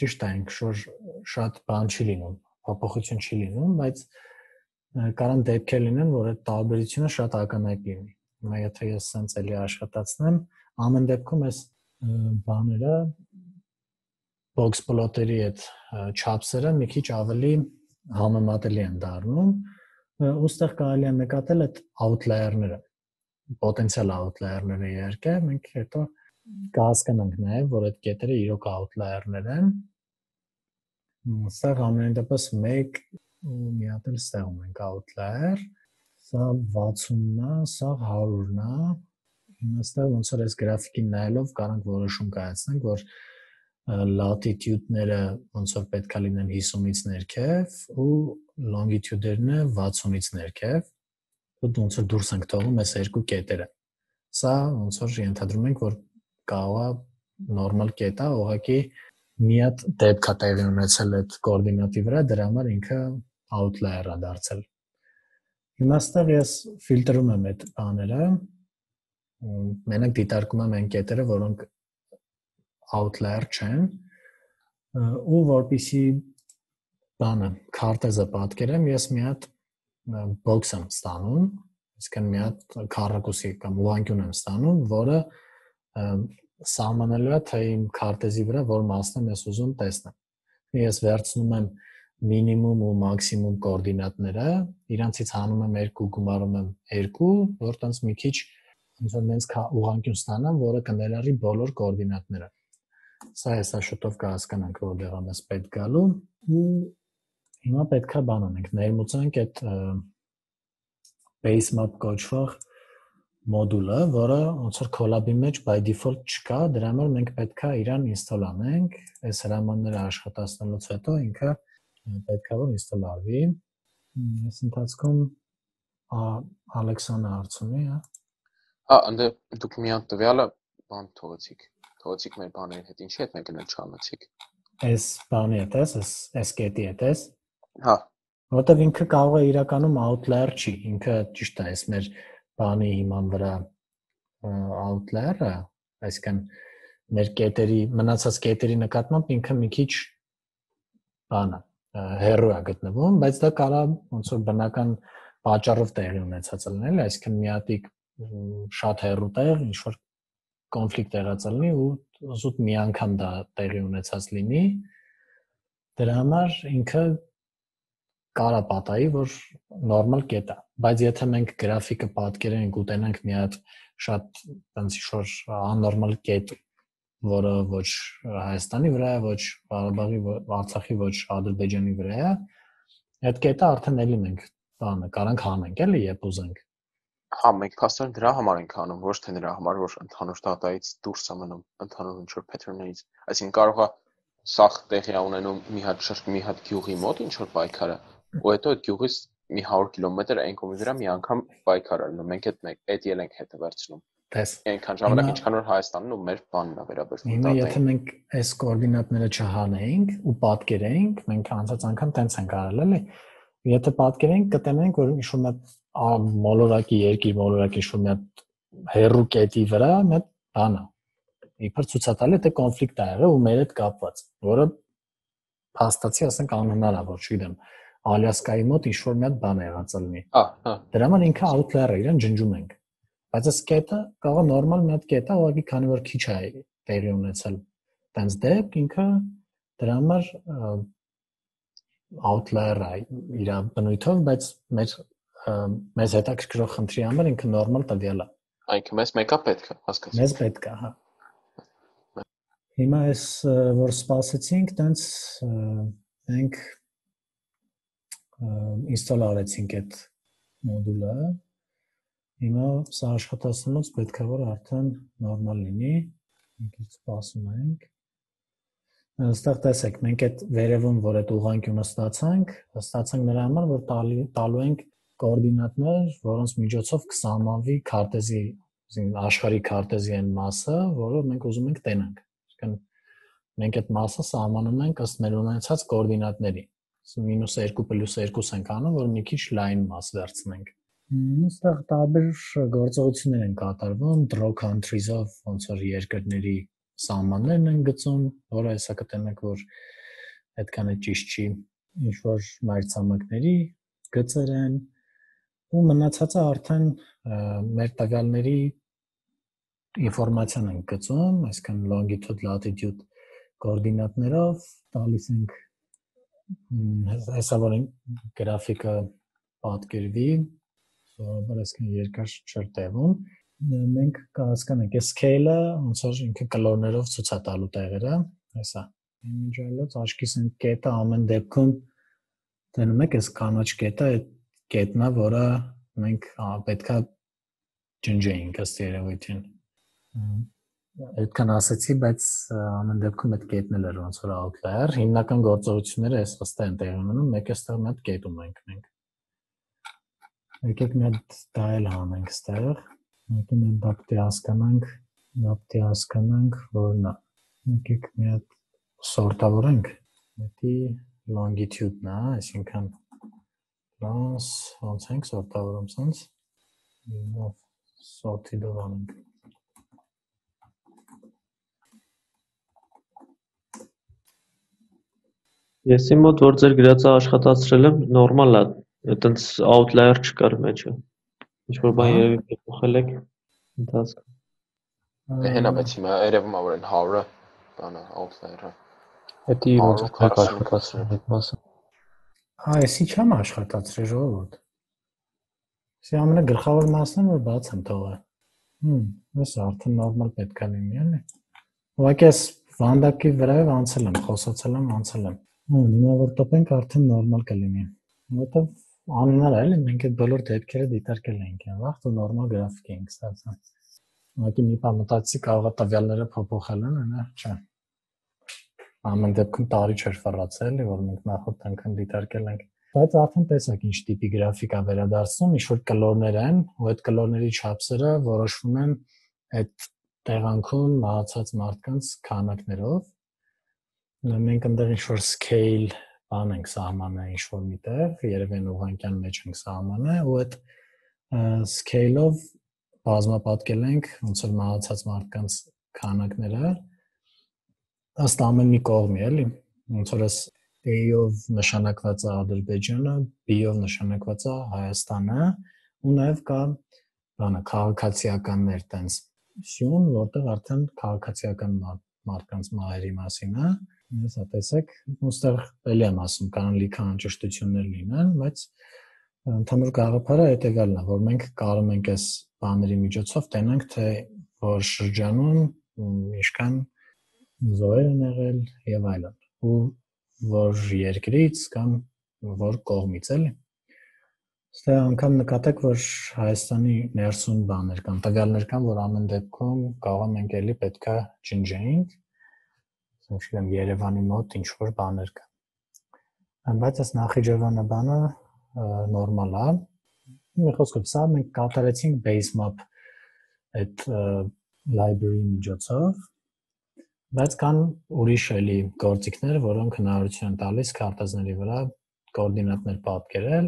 ճիշտ է, ինքը շատ բան չի լինում, փոփոխություն չի լինում, բայց կարան դեպքեր լինեն, որ այդ տարբերությունը շատ ակնհայտ լինի։ Հիմա եթե ես սենց էլի աշխատացնեմ, ամեն դեպքում այս բաները box plot-երի այդ չափսերը մի քիչ ավելի համեմատելի են դառնում, ուստեղ կարելի է նկատել այդ outlier-ները, պոտենցիալ outlier-ները իհարկե, մենք հետո կհասկանանք նաև, որ այդ կետերը իրոք outlier-ներ են։ Ուստեղ ամեն դեպս մեկ ու մի հատ էլ ստեղում ենք outlier, սա վաթսունն է, սա հարյուրն է։ Հիմա ստեղ ոնց որ այս գրաֆիկին նայելով կարանք որոշում կայացնենք, որ latitude-ները ոնց որ պետք է լինեն հիսունից ներքև ու longitude-ները վաթսունից ներքև, ոնց որ դուրս ենք թողում այս երկու կետերը։ Սա ոնց որ ենթադրում ենք, որ կարող է նորմալ կետ է, ուղղակի մի հատ դեպք է տեղի ունեցել այդ կոորդինատի վրա, դրա համար ինքը outlier է դարձել։ Հիմա ստեղ ես ֆիլտրում եմ այդ բաները, մենակ դիտարկում եմ այն կետերը, որոնք outlier չեն, ու որպեսզի բանը քարտեզը պատկերեմ, ես մի հատ box եմ ստանում, այսինքն մի հատ քառակուսի կամ ուղղանկյուն եմ ստանում, որը սահմանելու է, թե իմ քարտեզի վրա որ մասն եմ ես ուզում տեսնեմ։ Ես վերցնում եմ մինիմում ու մաքսիմում կոորդինատները, իրանցից հանում եմ երկու, գումարում եմ երկու, որ տենց մի քիչ ոնց որ նենց ուղղանկյուն ստանամ, որը կներառի բոլոր կոորդինատները։ Սա հեսա շուտով կհասկանանք, որտեղ է մեզ պետք գալու, ու հիմա պետք է բան անենք, ներմուծենք այդ base map կոչվող մոդուլը, որը ոնց որ collab-ի մեջ by default չկա, դրա համար մենք պետք է իրան install անենք, այս հրամանները աշխատացնելուց հետո ինքը պետք է որ install արվի։ Այս ընթացքում Ալեքսանը հարցունի, հա։ Հա, ընդ դուք մի հատ տվյալը բան թողեցիք, թողեցիք մեր բաների հետ, ինչի հետ մենք գնել չանացիք։ Այս բանի հետ էս, այս այս կետի հետ էս։ Հա։ Որտեվ ինքը կարող է իրականում outlier չի, ինքը ճիշտ է, այս մեր բանի հիման վրա outlier-ը, այսինքն մեր կետերի, մնացած կետերի նկատմամբ ինքը մի քիչ բան է, հեռու է գտնվում, բայց դա կարող ոնց որ բնական պատճառով տեղի ունեցած լինել, այսինքն մի հատիկ շատ հեռու տեղ, ինչ որ կոնֆլիկտ եղած լինի ու զուտ մի անգամ դա տեղի ունեցած լինի, դրա համար ինքը կարա պատահի, որ նորմալ կետ է, բայց եթե մենք գրաֆիկը պատկերենք ու տենանք մի հատ շատ տենց ինչ-որ աննորմալ կետ, որը ոչ Հայաստանի վրա է, ոչ Ղարաբաղի, Արցախի, ոչ Ադրբեջանի վրա է, այդ կետը արդեն էլի մենք բանը կարանք հանենք, էլի երբ ուզենք։ Հա, մենք փաստորեն դրա համար ենք անում, ոչ թե նրա համար, որ ընդհանուր դատայից դուրս է մնում, ընդհանուր ինչ-որ pattern-ից։ Այսինքն կարող է սախ տեղի ունենում մի հատ շրջան, մի հատ գյուղի մոտ ինչ-որ պայքարը, ու հետո այդ գյուղից մի հարյուր կիլոմետր այն կողմի վրա մի անգամ պայքար ալնում, մենք այդ մեկ այդ ել ենք հետը վերցնում։ Տես։ Այնքան ժամանակ ինչքան որ Հայաստանն ու մեր բանն է վերաբերվում։ Հիմա եթե մենք այս կոորդինատները չհանեինք ու պատկերեինք, մենք անցած անգամ տենց ենք արել, էլի։ Եթե պատկերենք, կտենենք, որ ինչ-որ մի հատ մոլորակի երկիր, մոլորակի ինչ-որ մի հատ հեռու կետի վրա մի հատ բան է։ Իբր ցուցատալի դա կոնֆլիկտ է եղել ու մեր հետ կապված, որը փաստացի ասենք անհնար է, որ չգիտեմ, Ալյասկայի մոտ ինչ-որ մի հատ բան է եղած լինի։ Հա, հա։ Դրա համար ինքը outlier է, իրան ջնջում ենք։ Բայց այս կետը կարող է նորմալ մի հատ կետ է, ուղղակի քանի որ քիչ է տեղի ունեցել։ Տենց դեպք ինքը դրա համար outlier է իր բնույթով, բայց մեր մեզ հետաքրքրող խնդրի համար ինքը նորմալ տվյալ է։ Այնքը մեզ մեկա պետք է, հասկացա։ Մեզ պետք է, հա։ Հիմա այս որ սպասեցինք, տենց մենք install արեցինք այդ մոդուլը։ Հիմա սա աշխատացնելուց պետք է որ արդեն նորմալ լինի։ Մենք ինչ սպասում ենք։ Այստեղ տեսեք, մենք այդ վերևում, որ այդ ուղղանկյունը ստացանք, ստացանք նրա համար, որ տալու ենք կոորդինատներ, որոնց միջոցով կսահմանվի քարտեզի, աշխարհի քարտեզի այն մասը, որը մենք ուզում ենք տենանք։ Այսինքն մենք այդ մասը սահմանում ենք ըստ մեր ունեցած կոորդինատների։ մինուս երկու պլյուս երկու ենք անում, որ մի քիչ լայն մաս վերցնենք։ Այստեղ տարբեր գործողություններ են կատարվում, draw countries-ով ոնց որ երկրների սահմաններն են գծում, որը հեսա կտենեք, որ այդքան է ճիշտ չի, ինչ որ մայրցամաքների գծեր են, ու մնացածը արդեն մեր տվյալների ինֆորմացիան են գծում, այսինքն longitude, latitude կոորդինատներով տալիս ենք հեսա որ գրաֆիկը պատկերվի, սովորաբար այսքան երկար չէր տևում, մենք կհասկանանք, այս scale-ը ոնց որ ինքը կլորներով ցույց է տալու տեղերը, հեսա, իմիջիալոց աչքիս են կետը ամեն դեպքում տենում եք, այս կանաչ կետը այդ կետն է, որը մենք պետքա ջնջեինք ըստ երևույթին, այդքան ասեցի, բայց ամեն դեպքում այդ կետն էլ էր ոնց որ outlier, հիմնական գործողությունները այս վստահ են տեղի ունենում, մեկ էստեղ մի հատ կետ ունենք մենք եկեք մի հատ դա էլ հանենք ստեղ, եկեք մի հատ դա պտի հասկանանք, դա պտի հասկանանք, որն է, եկեք մի հատ սորտավորենք, հետի longitude-ն է, այսինքն լանս, ոնց ենք սորտավորում սենց, սորտի դով անենք, Ես իմ մոտ որ ձեր գրածը աշխատացրել եմ, նորմալ է, այտենց outlier չկար մեջը, ինչ-որ բան երևի փոխել եք, ընթացքում։ Հենա, բայց հիմա երևում է, որ են հարը, բանը, outlier-ը։ Հետի ոնց եք աշխատացրել այդ մասը։ Հա, եսի չեմ աշխատացրել ժողովուրդ։ Սի ամենագլխավոր մասն է, որ բաց եմ թողել։ Հմ, ես արդեն նորմալ պետք է լինի, էլի։ Ուղղակի ես վանդակի վրայով անցել եմ, խոսացել եմ, անցել եմ։ Հմ, հիմա որ տպենք արդեն նորմալ կլինի։ Որտեվ անհնար է, էլի, մենք այդ բոլոր դեպքերը դիտարկել ենք, վաղ ու նորմալ գրաֆիկ ենք ստացել։ Ուղղակի մի բան մտածեցի, կարող է տվյալները փոփոխել են, այնա, չէ։ Ամեն դեպքում տարի չէր ֆռացել, որ մենք նախորդ անգամ դիտարկել ենք։ Բայց արդեն տեսակ ինչ տիպի գրաֆիկ է վերադարձնում, ինչ որ կլորներ են, ու այդ կլորների չափսերը որոշվում են այդ տեղանքում մահացած մարդկանց քանակներով։ Մենք այնտեղ ինչ որ scale բան ենք սահմանը ինչ որ միտեղ, երևի ուղղանկյան մեջ ենք սահմանը, ու այդ scale-ով բազմապատկել ենք ոնց որ մահացած մարդկանց քանակները ըստ ամեն մի կողմի, էլի, ոնց որ A-ով նշանակված է Ադրբեջանը, B-ով նշանակված է Հայաստանը, ու նաև կա բանը քաղաքացիականներ տենց սյուն, որտեղ արդեն քաղաքացիական մարդկանց մահերի մասին է, հեսա տեսեք, ուստեղ էլի եմ ասում, կան լիքը անճշտություններ լինեն, բայց ընդհանուր գաղափարը հետևյալն է, որ մենք կարող ենք այս բաների միջոցով տենանք, թե որ շրջանում ինչքան զոհեր են եղել եւ այլն, ու որ երկրից կամ որ կողմից էլի։ Ստե անգամ նկատեք, որ Հայաստանի ներսում բաներ կան, տվյալներ կան, որ ամեն դեպքում կարող ենք էլի պետքա ջնջեինք, ասենք Երևանի մոտ ինչ որ բաներ կան։ Բայց այս Նախիջևանը բանը նորմալ է։ Մի խոսքով սա մենք կատարեցինք base map այդ library-ի միջոցով, բայց կան ուրիշ էլի գործիքներ, որոնք հնարավորություն են տալիս քարտեզների վրա կոորդինատներ պատկերել,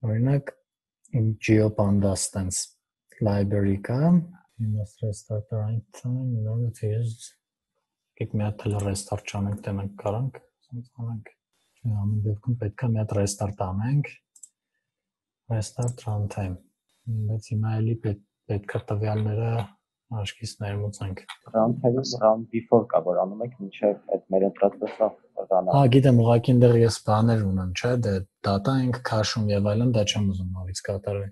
օրինակ GeoPandas stance library կա, you must restart the right time in order to use եկեք մի հատ restart չանենք, տենանք կարանք, ասենց անենք, ամեն դեպքում պետք է մի հատ restart անենք, restart runtime, բայց հիմա էլի պետք է տվյալները Աշկից ներմուծենք։ Runtime-ը run before կա, որ անում եք մինչև այդ մեր ընտրածը run-ը։ Հա, գիտեմ, ուղղակի այնտեղ ես բաներ ունեմ, չէ՞, դե data ենք քաշում եւ այլն, դա չեմ ուզում նորից կատարել։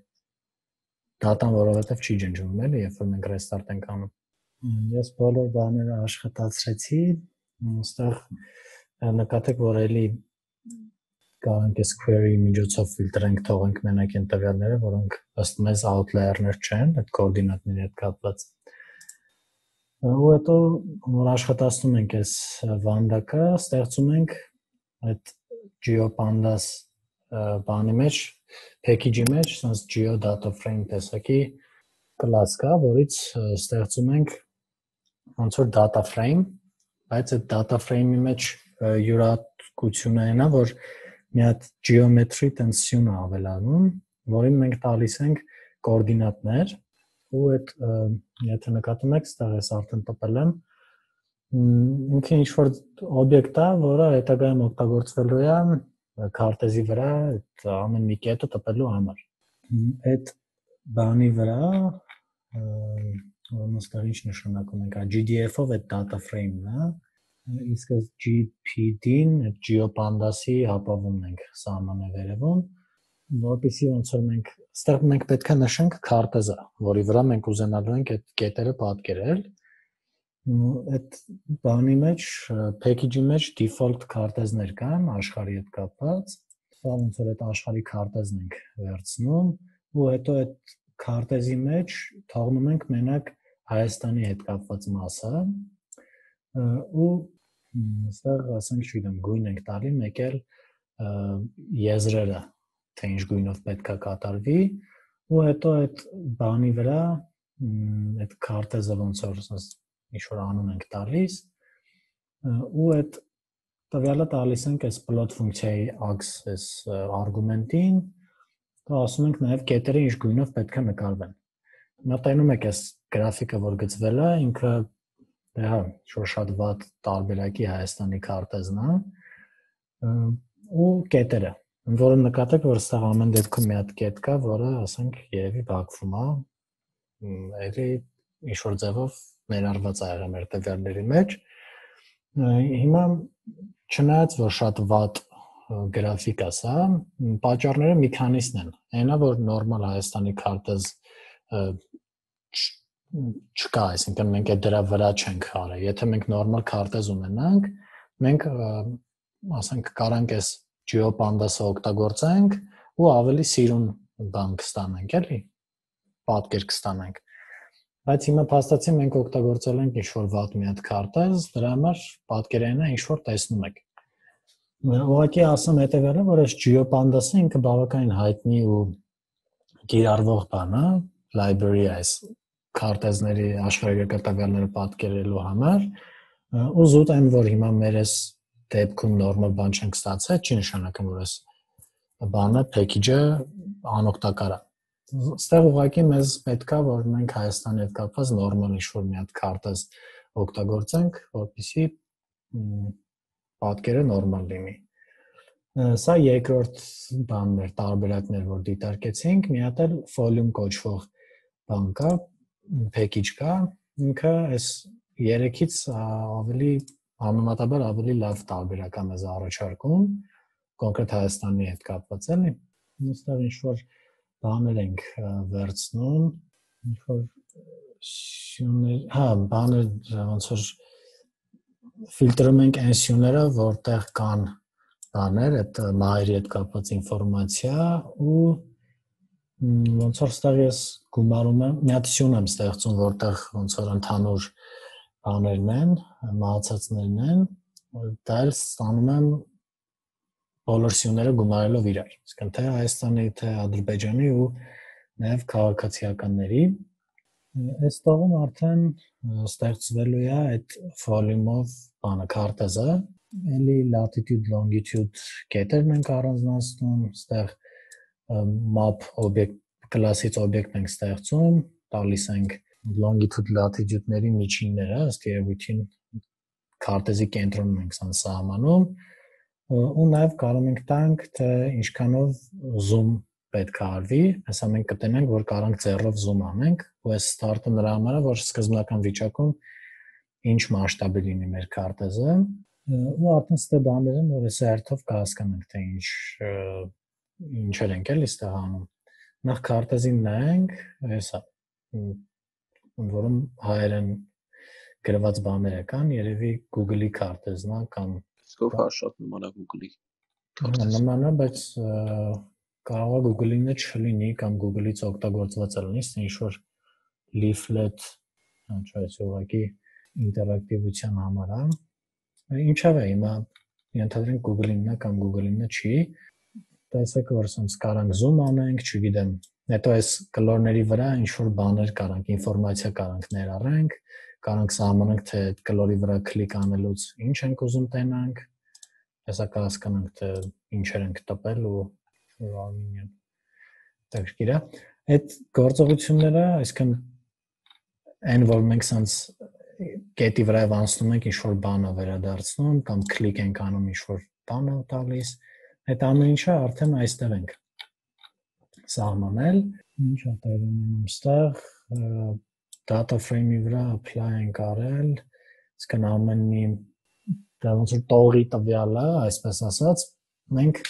Data-ն որովհետեւ չի ջնջվում, էլի, երբ որ մենք restart ենք անում։ Ես բոլոր բաները աշխատացրեցի, այստեղ նկատեք, որ էլի կարանք այս query միջոցով ֆիլտրենք, թողենք մենակ այն տվյալները, որոնք ըստ մեզ outlier-ներ չեն, այդ կոորդինատների հետ կապված։ Ու հետո որ աշխատացնում ենք այս վանդակը, ստեղծում ենք այդ GeoPandas բանի մեջ, package-ի մեջ, sense geo.frame տեսակի class կա, որից ստեղծում ենք ոնց որ data frame, բայց այդ data frame-ի մեջ յուրահատկությունը այն է, որ մի հատ geometry տենսիոն է ավելանում, որին մենք տալիս ենք կոորդինատներ, ու այդ եթե նկատում եք, ստեղ ես արդեն տպել եմ, ինքը ինչ-որ օբյեկտ է, որը հետագայում օգտագործվելու է քարտեզի վրա այդ ամեն մի կետը տպելու համար։ Այդ բանի վրա ոնց ինչ նշանակում ենք, G D F-ով այդ data frame-ն է, իսկ G P D-ն այդ GeoPandas-ի ապավումն ենք սահմանը վերևում, որպեսզի ոնց որ մենք այստեղ մենք պետք է նշենք քարտեզը, որի վրա մենք ուզենալու ենք այդ կետերը պատկերել։ Այդ բանի մեջ, package-ի մեջ default քարտեզներ կան աշխարհի հետ կապված, սա ոնց որ այդ աշխարհի քարտեզն ենք վերցնում, ու հետո այդ քարտեզի մեջ թողնում ենք մենակ Հայաստանի հետ կապված մասը, ու այստեղ ասենք չգիտեմ գույն ենք տալի, մեկ էլ եզրերը, թե ինչ գույնով պետք է կատարվի, ու հետո այդ բանի վրա այդ քարտեզը ոնց որ ինչ-որ անուն ենք տալիս, ու այդ տվյալը տալիս ենք այս plot ֆունկցիայի access արգումենտին, ու ասում ենք նաև կետերը ինչ գույնով պետք է նկարվեն։ Մտնում եք այս գրաֆիկը, որ գծվել է, ինքը հա, շատ վատ տարբերակի Հայաստանի քարտեզն է, ու կետերը, որը նկատեք, որ այստեղ ամեն դեպքում մի հատ կետ կա, որը, ասենք, երևի բակվում է, էլի ինչ-որ ձևով ներառված է եղել մեր տվյալների մեջ։ Հիմա չնայած, որ շատ վատ գրաֆիկ է սա, պատճառները մի քանիսն են։ Այնա, որ նորմալ Հայաստանի քարտեզ չկա, այսինքն մենք այդ դրա վրա չենք արել։ Եթե մենք նորմալ քարտեզ ունենանք, մենք ասենք կարանք այս GeoPandas-ը օգտագործենք ու ավելի սիրուն բան կստանանք, էլի, պատկեր կստանանք։ Բայց հիմա փաստացի մենք օգտագործել ենք ինչ-որ վատ մի հատ քարտեզ, դրա համար պատկերայինը ինչ-որ տեսնում եք։ Ուղղակի ասեմ հետևյալը, որ այս GeoPandas-ը ինքը բավականին հայտնի ու կիրառվող բան է, library է այս քարտեզների աշխարհագրական տվյալները պատկերելու համար, ու զուտ այն, որ հիմա մեր այս դեպքում նորմալ բան չենք ստացել, չի նշանակում, որ այս բանը package-ը անօգտակար է։ Այստեղ ուղղակի մեզ պետք է, որ մենք Հայաստանի հետ կապված նորմալ ինչ-որ մի հատ քարտեզ օգտագործենք, որպեսզի պատկերը նորմալ լինի։ Սա երկրորդ բանն էր, տարբերակներ, որ դիտարկեցինք, մի հատ էլ volume կոչվող բան կա, package կա, ինքը այս երեքից ավելի համեմատաբար ավելի լավ տարբերակ է մեզ առաջարկում, կոնկրետ Հայաստանի հետ կապված էլի։ Այստեղ ինչ-որ բաներ ենք վերցնում, ինչ-որ սյուներ, հա, բաներ ոնց որ ֆիլտրում ենք այն սյուները, որտեղ կան բաներ, այդ մահերի հետ կապված ինֆորմացիա, ու ոնց որ ստեղ ես գումարում եմ, մի հատ սյուն եմ ստեղծում, որտեղ ոնց որ ընդհանուր բաներն են, մահացածներն են, դա էլ ստանում եմ բոլոր սյուները գումարելով իրար, իսկն թե Հայաստանի, թե Ադրբեջանի ու նաև քաղաքացիականների։ Այս տողում արդեն ստեղծվելու է այդ volume-ով բանը քարտեզը, էլի latitude, longitude կետերն ենք առանձնացնում, ստեղ map օբյեկտ կլասից օբյեկտ ենք ստեղծում, տալիս ենք longitude latitude-ների միջինները, ըստ երևույթին քարտեզի կենտրոնում ենք սան սահմանում, ու նաև կարող ենք տանք, թե ինչքանով zoom պետք է արվի, հեսա մենք կտենենք, որ կարանք ձեռով zoom անենք, ու այս start-ը նրա համար է, որ սկզբնական վիճակում ինչ մասշտաբի լինի մեր քարտեզը, ու արդեն ստե բաներ են, որ այս հերթով կհասկանանք, թե ինչ ինչեր ենք էլի ստեղ անում։ Նախ քարտեզին նայենք, հեսա, ընդ որում հայերեն գրված բաները կան, երևի Google-ի քարտեզն է կամ Սկով հա շատ նման է Google-ի քարտեզ։ Նման է, բայց կարող է Google-ինը չլինի կամ Google-ից օգտագործված լինի, ինչ-որ leaflet, ինչպես ուղղակի ինտերակտիվության համար է։ Ինչավ է հիմա ենթադրենք Google-ինն է կամ Google-ինը չի, տեսեք, որ ասենց կարանք zoom անենք, չգիտեմ, հետո այս կլորների վրա ինչ-որ բաներ կարանք, ինֆորմացիա կարանք ներառենք, կարանք սահմանենք, թե կլորի վրա կլիկ անելուց ինչ ենք ուզում տենանք, հեսա կհասկանանք, թե ինչեր ենք տպել ու արմինյան։ Տակշկիրա, այդ գործողությունները, այսքան այն որ մենք սանց կետի վրայով անցնում ենք ինչ-որ բանը վերադարձնում կամ կլիկ ենք անում ինչ-որ բանը տալիս, այդ ամեն ինչը արդեն այստեղ ենք սահմանել, ինչ է տեղի ունենում ստեղ, data frame-ի վրա apply ենք արել, այսքան ամեն մի դա ոնց որ տողի տվյալը, այսպես ասած, մենք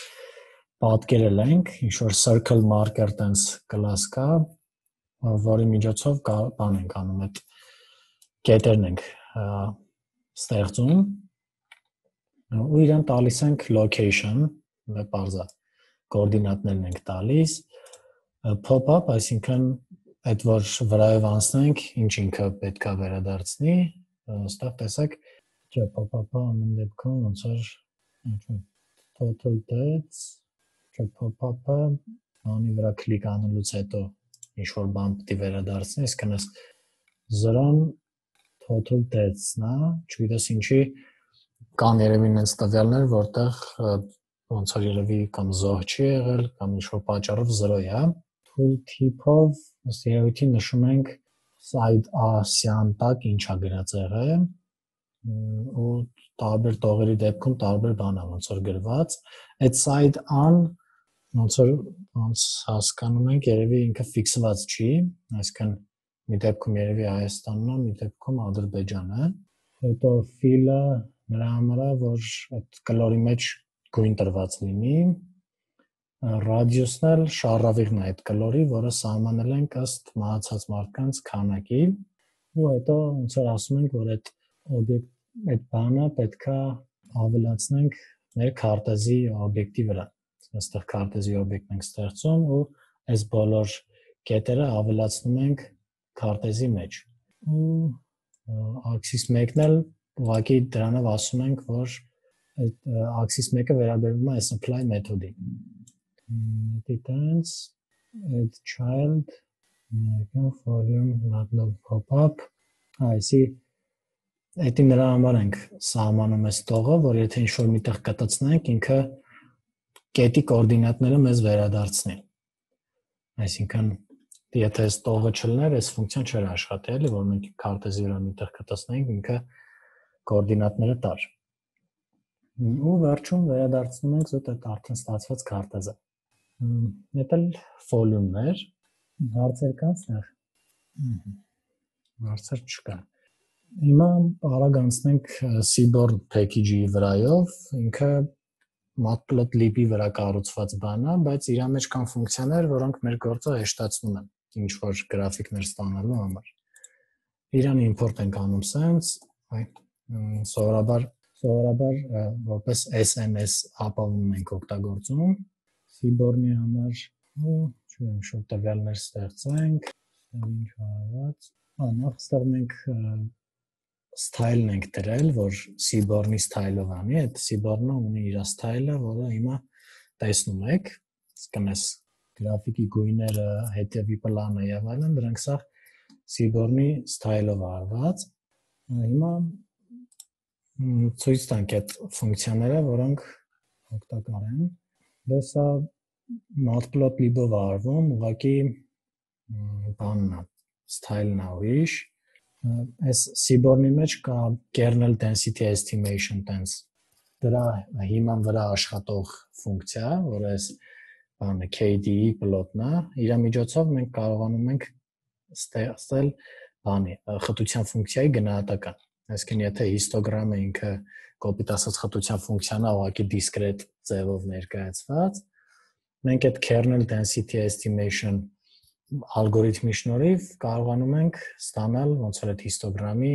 պատկերել ենք, ինչ-որ circle marker տենց class կա, որի միջոցով բան ենք անում, այդ կետերն ենք ստեղծում ու իրան տալիս ենք location, պարզա, կորդինատներն ենք տալիս, pop-up, այսինքն այդ որ վրայով անցնենք, ինչ ինքը պետք է վերադարձնի, ստեղ տեսակ, չէ, pop-up-ը ամեն դեպքում ոնց որ total deaths, չէ, pop-up-ը անի վրա կլիկ անելուց հետո ինչ-որ բան պիտի վերադարձնի, այսքան ես զրոն total deaths-ն է, չգիտես ինչի կան երևի նենց տվյալներ, որտեղ ոնց որ երևի կամ զոհ չի եղել, կամ ինչ-որ պատճառով զրո է, tool tip-ով ըստ երևույթի նշում ենք side A-սյան տակ ինչ է գրած եղել, ու տարբեր տողերի դեպքում տարբեր բան է ոնց որ գրված, այդ side A-ն ոնց որ ոնց հասկանում ենք, երևի ինքը ֆիքսված չի, այսինքն մի դեպքում երևի Հայաստանն է, մի դեպքում Ադրբեջանը, հետո fill-ը նրա համար է, որ այդ կլորի մեջ գույն տրված լինի, radius-ն էլ շարավիղն է այդ կլորի, որը սահմանել ենք ըստ մահացած մարդկանց քանակի, ու հետո ոնց որ ասում ենք, որ այդ օբյեկտ, այդ բանը պետքա ավելացնենք մեր քարտեզի օբյեկտի վրա, այստեղ քարտեզի օբյեկտ ենք ստեղծում ու այս բոլոր կետերը ավելացնում ենք քարտեզի մեջ, ու axis մեկն էլ ուղղակի դրանով ասում ենք, որ այդ axis մեկը վերաբերվում է apply մեթոդին, details, add child, volume, not pop-up, այսի Էդի նրա համար ենք սահմանում այս տողը, որ եթե ինչ-որ միտեղ կտցնենք, ինքը կետի կորդինատները մեզ վերադարձնի։ Այսինքն, եթե այս տողը չլներ, այս ֆունկցիան չէր աշխատի, էլի, որ մենք քարտեզի վրա միտեղ կտցնենք, ինքը կորդինատները տար։ Ու վերջում վերադարձնում ենք զուտ այդ արդեն ստացված քարտեզը։ Դա էլ volume-ներ, հարցեր կան ստեղ։ Հարցեր չկա։ Հիմա արագ անցնենք Seaborn package-ի վրայով, ինքը matplotlib-ի վրա կառուցված բան է, բայց իր մեջ կան ֆունկցիաներ, որոնք մեր գործը հեշտացնում են, ինչ որ գրաֆիկներ ստանալու համար։ Իրան import ենք անում sense, սովորաբար սովորաբար որպես S M S ապահովում ենք օգտագործում Seaborn-ի համար, ու չգիտեմ, շուտ տվյալներ ստեղծենք, ինչ արված։ Անախ ստեղ մենք style-ն ենք դրել, որ Seaborn-ի style-ով անի, այդ Seaborn-ը ունի իր style-ը, որը հիմա տեսնում եք, իսկն էս գրաֆիկի գույները, հետևի պլանը եւ այլն, դրանք սա Seaborn-ի style-ով արված։ Հիմա ցույց տանք այդ ֆունկցիաները, որոնք օգտակար են։ Դա սա matplotlib-ով արվում, ուղղակի բանն է, style-ն է ուրիշ։ Այս Seaborn-ի մեջ կա kernel density estimation տենց դրա հիման վրա աշխատող ֆունկցիա, որը այս բանը K D E plot-ն է, իր միջոցով մենք կարողանում ենք ստեղծել բանի խտության ֆունկցիայի գնահատական։ Այսինքն եթե հիստոգրամը ինքը կոպիտ ասած խտության ֆունկցիան է, ուղղակի discrete ձևով ներկայացված, մենք այդ kernel density estimation ալգորիթմի շնորհիվ կարողանում ենք ստանալ ոնց որ այդ հիստոգրամի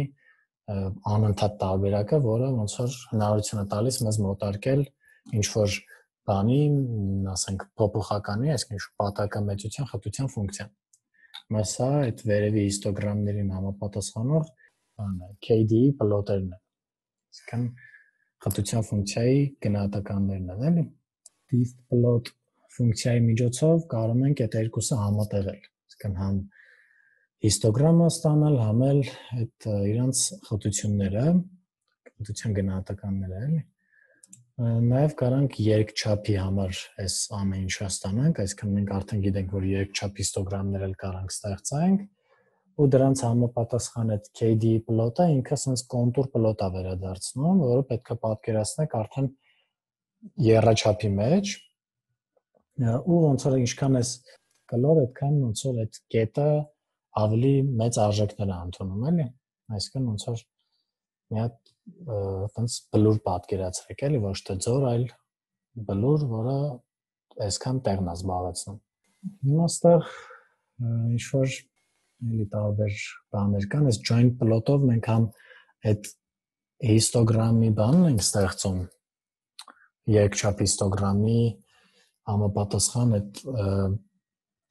անընդհատ տարբերակը, որը ոնց որ հնարավորություն է տալիս մեզ մոտարկել ինչ որ բանի, ասենք փոփոխականի, այսինքն ինչ պատակամեծության խտության ֆունկցիան։ Մասա այդ վերևի հիստոգրամներին համապատասխանող բանը K D E plot-երն են։ Այսինքն խտության ֆունկցիայի գնահատականներն են, էլի։ Dist plot ֆունկցիայի միջոցով կարող ենք այդ երկուսը համատեղել, այսինքն համ հիստոգրամը ստանալ, համ էլ այդ իրանց խտությունները, խտության գնահատականները, էլի։ Նաև կարանք երկչափի համար այս ամեն ինչը ստանանք, այսինքն մենք արդեն գիտենք, որ երկչափ հիստոգրամներ էլ կարանք ստեղծենք, ու դրանց համապատասխան այդ K D պլոտը ինքը sense կոնտուր պլոտ է վերադարձնում, որը պետք է պատկերացնենք արդեն եռաչափի մեջ, ու ոնց որ ինչքան էս կլոր, այդքան ոնց որ այդ կետը ավելի մեծ արժեքներ է ընդունում, էլի, այսինքն ոնց որ մի հատ այտենց բլուր պատկերացրեք, էլի, ոչ թե ձոր, այլ բլուր, որը այսքան տեղն է զբաղեցնում։ Հիմա ստեղ ինչ որ էլի տարբեր բաներ կան, այս joint plot-ով մենք համ այդ հիստոգրամի բանն ենք ստեղծում, երկչափ հիստոգրամի համապատասխան այդ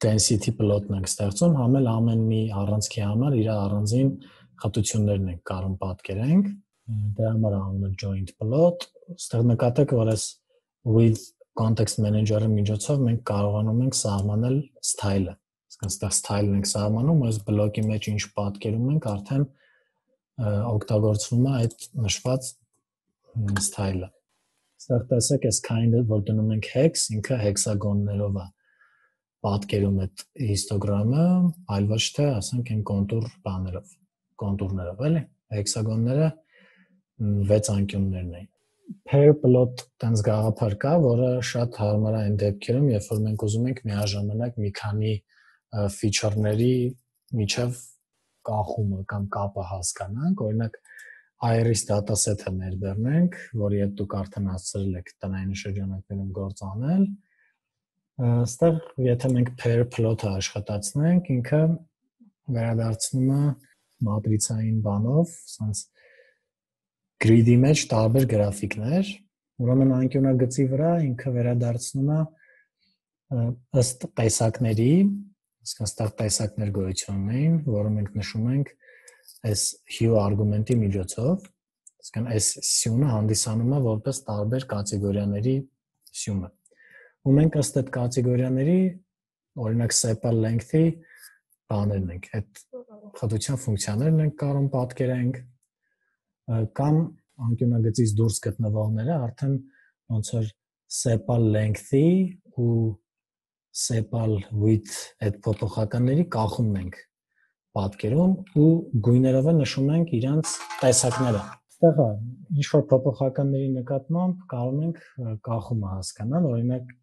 density plot-ն ենք ստեղծում, համ էլ ամեն մի առանցքի համար իր առանձին խտություններն ենք կարող պատկերենք, դրա համար անունը joint plot, ստեղ նկատեք, որ այս with context manager-ի միջոցով մենք կարողանում ենք սահմանել style-ը, այսինքն ստեղ style-ն ենք սահմանում, այս բլոկի մեջ ինչ պատկերում ենք, արդեն օգտագործվում է այդ նշված style-ը։ Ստեղ տեսեք, այս kind-ը, որ դնում ենք hex, ինքը հեքսագոններով է պատկերում այդ հիստոգրամը, այլ ոչ թե, ասենք, այն կոնտուր բաներով, կոնտուրներով, էլի, հեքսագոնները վեց անկյուններն են։ Pair plot տենց գաղափար կա, որը շատ հարմար է այն դեպքերում, երբ որ մենք ուզում ենք միաժամանակ մի քանի feature-ների միջև կախումը կամ կապը հասկանանք, օրինակ iris dataset-ը ներբեռնենք, որի հետ դուք արդեն հասցրել եք տնային շրջանակներում գործ անել, այստեղ եթե մենք pair plot-ը աշխատացնենք, ինքը վերադարձնում է մատրիցային բանով, ասենց grid-ի մեջ տարբեր գրաֆիկներ, ուրեմն անկյունագծի վրա ինքը վերադարձնում է ըստ տեսակների, այսինքն ստեղ տեսակներ գոյություն ունեն, որը մենք նշում ենք այս hue արգումենտի միջոցով, այսինքն այս սյունը հանդիսանում է որպես տարբեր կատեգորիաների սյունը։ Ու մենք ըստ այդ կատեգորիաների, օրինակ sepal length-ի բաներն ենք, այդ խտության ֆունկցիաներն ենք կարող պատկերենք, կամ անկյունագծից դուրս գտնվողները արդեն ոնց որ sepal length-ի ու sepal width այդ փոփոխականների կախումն ենք պատկերում ու գույներով նշում ենք իրանց տեսակները։ Այստեղ ինչ որ փոփոխականների նկատմամբ կարող ենք կախումը հասկանալ, օրինակ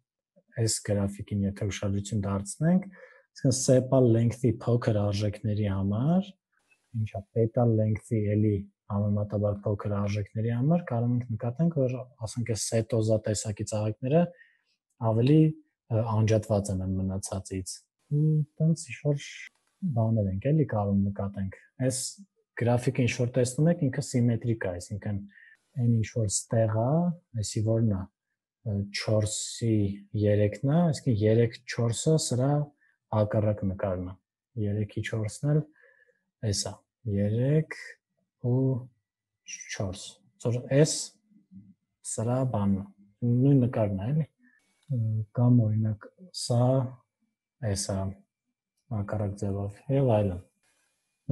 այս գրաֆիկին եթե ուշադրություն դարձնենք, այսինքն sepal length-ի փոքր արժեքների համար, ինչա petal length-ի էլի համեմատաբար փոքր արժեքների համար կարող ենք նկատենք, որ ասենք այս սետոզա տեսակի ծաղիկները ավելի անջատված են մնացածից։ Ու տենց ինչ-որ բաներ ենք էլի կարող նկատենք։ Այս գրաֆիկը ինչ որ տեսնում եք, ինքը սիմետրիկ է, այսինքն այն ինչ որ ստեղ է, այսի որն է չորսի երեքն է, այսինքն երեք չորսը սրա հակառակ նկարն է։ երեքի չորսն էլ էս է, երեք ու չորս, ծոր S սրա բանն, նույն նկարն է, էլի, կամ օրինակ սա S է, հակառակ ձևով, և այլն։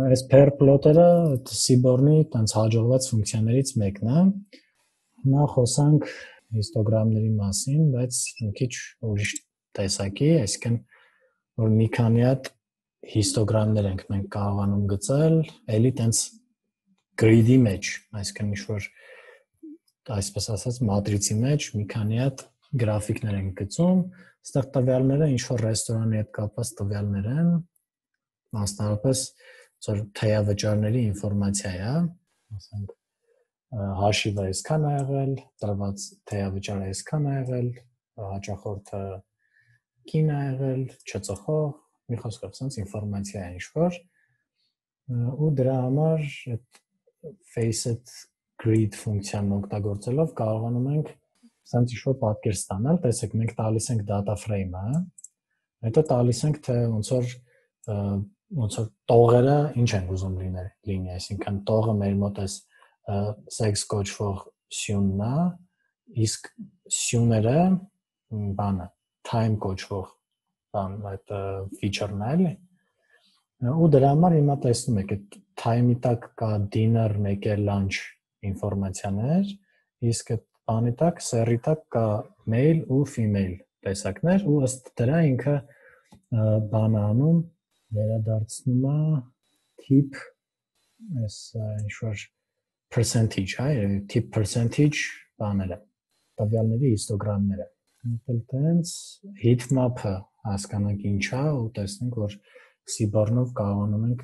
Այս pair plot-երը Seaborn-ի տենց հաջողված ֆունկցիաներից մեկն է, հիմա խոսանք հիստոգրամների մասին, բայց մի քիչ ուրիշ տեսակի, այսինքն որ մի քանի հատ հիստոգրամներ ենք մենք կարողանում գծել, էլի տենց grid-ի մեջ, այսինքն ինչ-որ այսպես ասած մատրիցի մեջ մի քանի հատ գրաֆիկներ ենք գծում, այստեղ տվյալները ինչ-որ ռեստորանի հետ կապված տվյալներ են, մասնավորապես ծոր թեյավճարների ինֆորմացիա է, ասենք հաշիվը այսքան է եղել, տրված թեյավճարը այսքան է եղել, հաճախորդը կին է եղել, չծխող, մի խոսքով սենց ինֆորմացիա է ինչ-որ, ու դրա համար այդ facet grid ֆունկցիան օգտագործելով կարողանում ենք սենց ինչ-որ պատկեր ստանալ, տեսեք մենք տալիս ենք data frame-ը, հետո տալիս ենք թե ոնց որ ոնց որ տողերը ինչ են ուզում լինել, լինի, այսինքն տողը մեր մոտ էս sex կոչվող սյունն է, իսկ սյուները բանը time կոչվող բան այդ feature-ն է, էլի։ Ու դրա համար հիմա տեսնում եք այդ time-ի տակ կա dinner, մեկ է lunch ինֆորմացիաներ, իսկ այդ բանի տակ, սեռի տակ կա male ու female տեսակներ ու ըստ դրա ինքը բան անում վերադարձնում է tip այս ինչ-որ percentage, հա, tip percentage բաները, տվյալների հիստոգրամները։ Տենց heat map-ը հասկանանք ինչ է ու տեսնենք, որ Seaborn-ով կարողանում ենք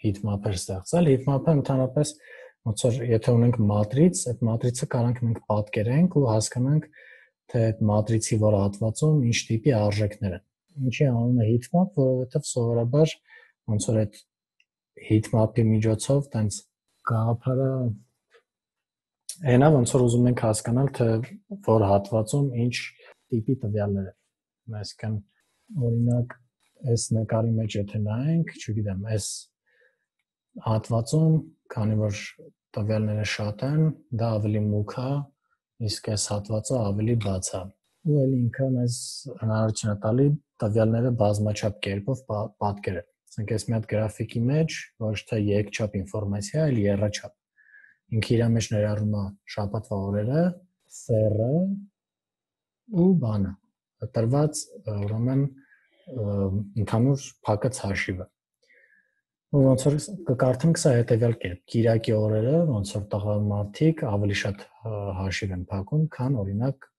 heat map-եր ստեղծել։ Heat map-ը ընդհանրապես ոնց որ եթե ունենք մատրից, այդ մատրիցը կարող ենք պատկերենք ու հասկանանք, թե այդ մատրիցի որ հատվածում ինչ տիպի արժեքներ են։ Ինչի անունը heat map, որովհետև սովորաբար ոնց որ այդ heat map-ի միջոցով տենց գաղափարը այնա ոնց որ ուզում ենք հասկանալ, թե որ հատվածում ինչ տիպի տվյալներ են։ Այսինքն օրինակ այս նկարի մեջ եթե նայենք, չգիտեմ, այս հատվածում, քանի որ տվյալները շատ են, դա ավելի մուգ է, իսկ այս հատվածը ավելի բաց է։ Ու էլ ինքը մեզ հնարավորություն է տալի տվյալները բազմաչափ կերպով պատկերել։ Ասենք այս մի հատ գրաֆիկի մեջ ոչ թե երկչափ ինֆորմացիա, այլ եռաչափ։ Ինքը իր մեջ ներառում է շաբաթվա օրերը, սեռը ու բանը, տրված ուրեմն ընդհանուր փակած հաշիվը։ Ու ոնց որ կկարդանք սա հետևյալ կերպ. Կիրակի օրերը ոնց որ տղամարդիկ ավելի շատ հաշիվ են փակում, քան օրինակ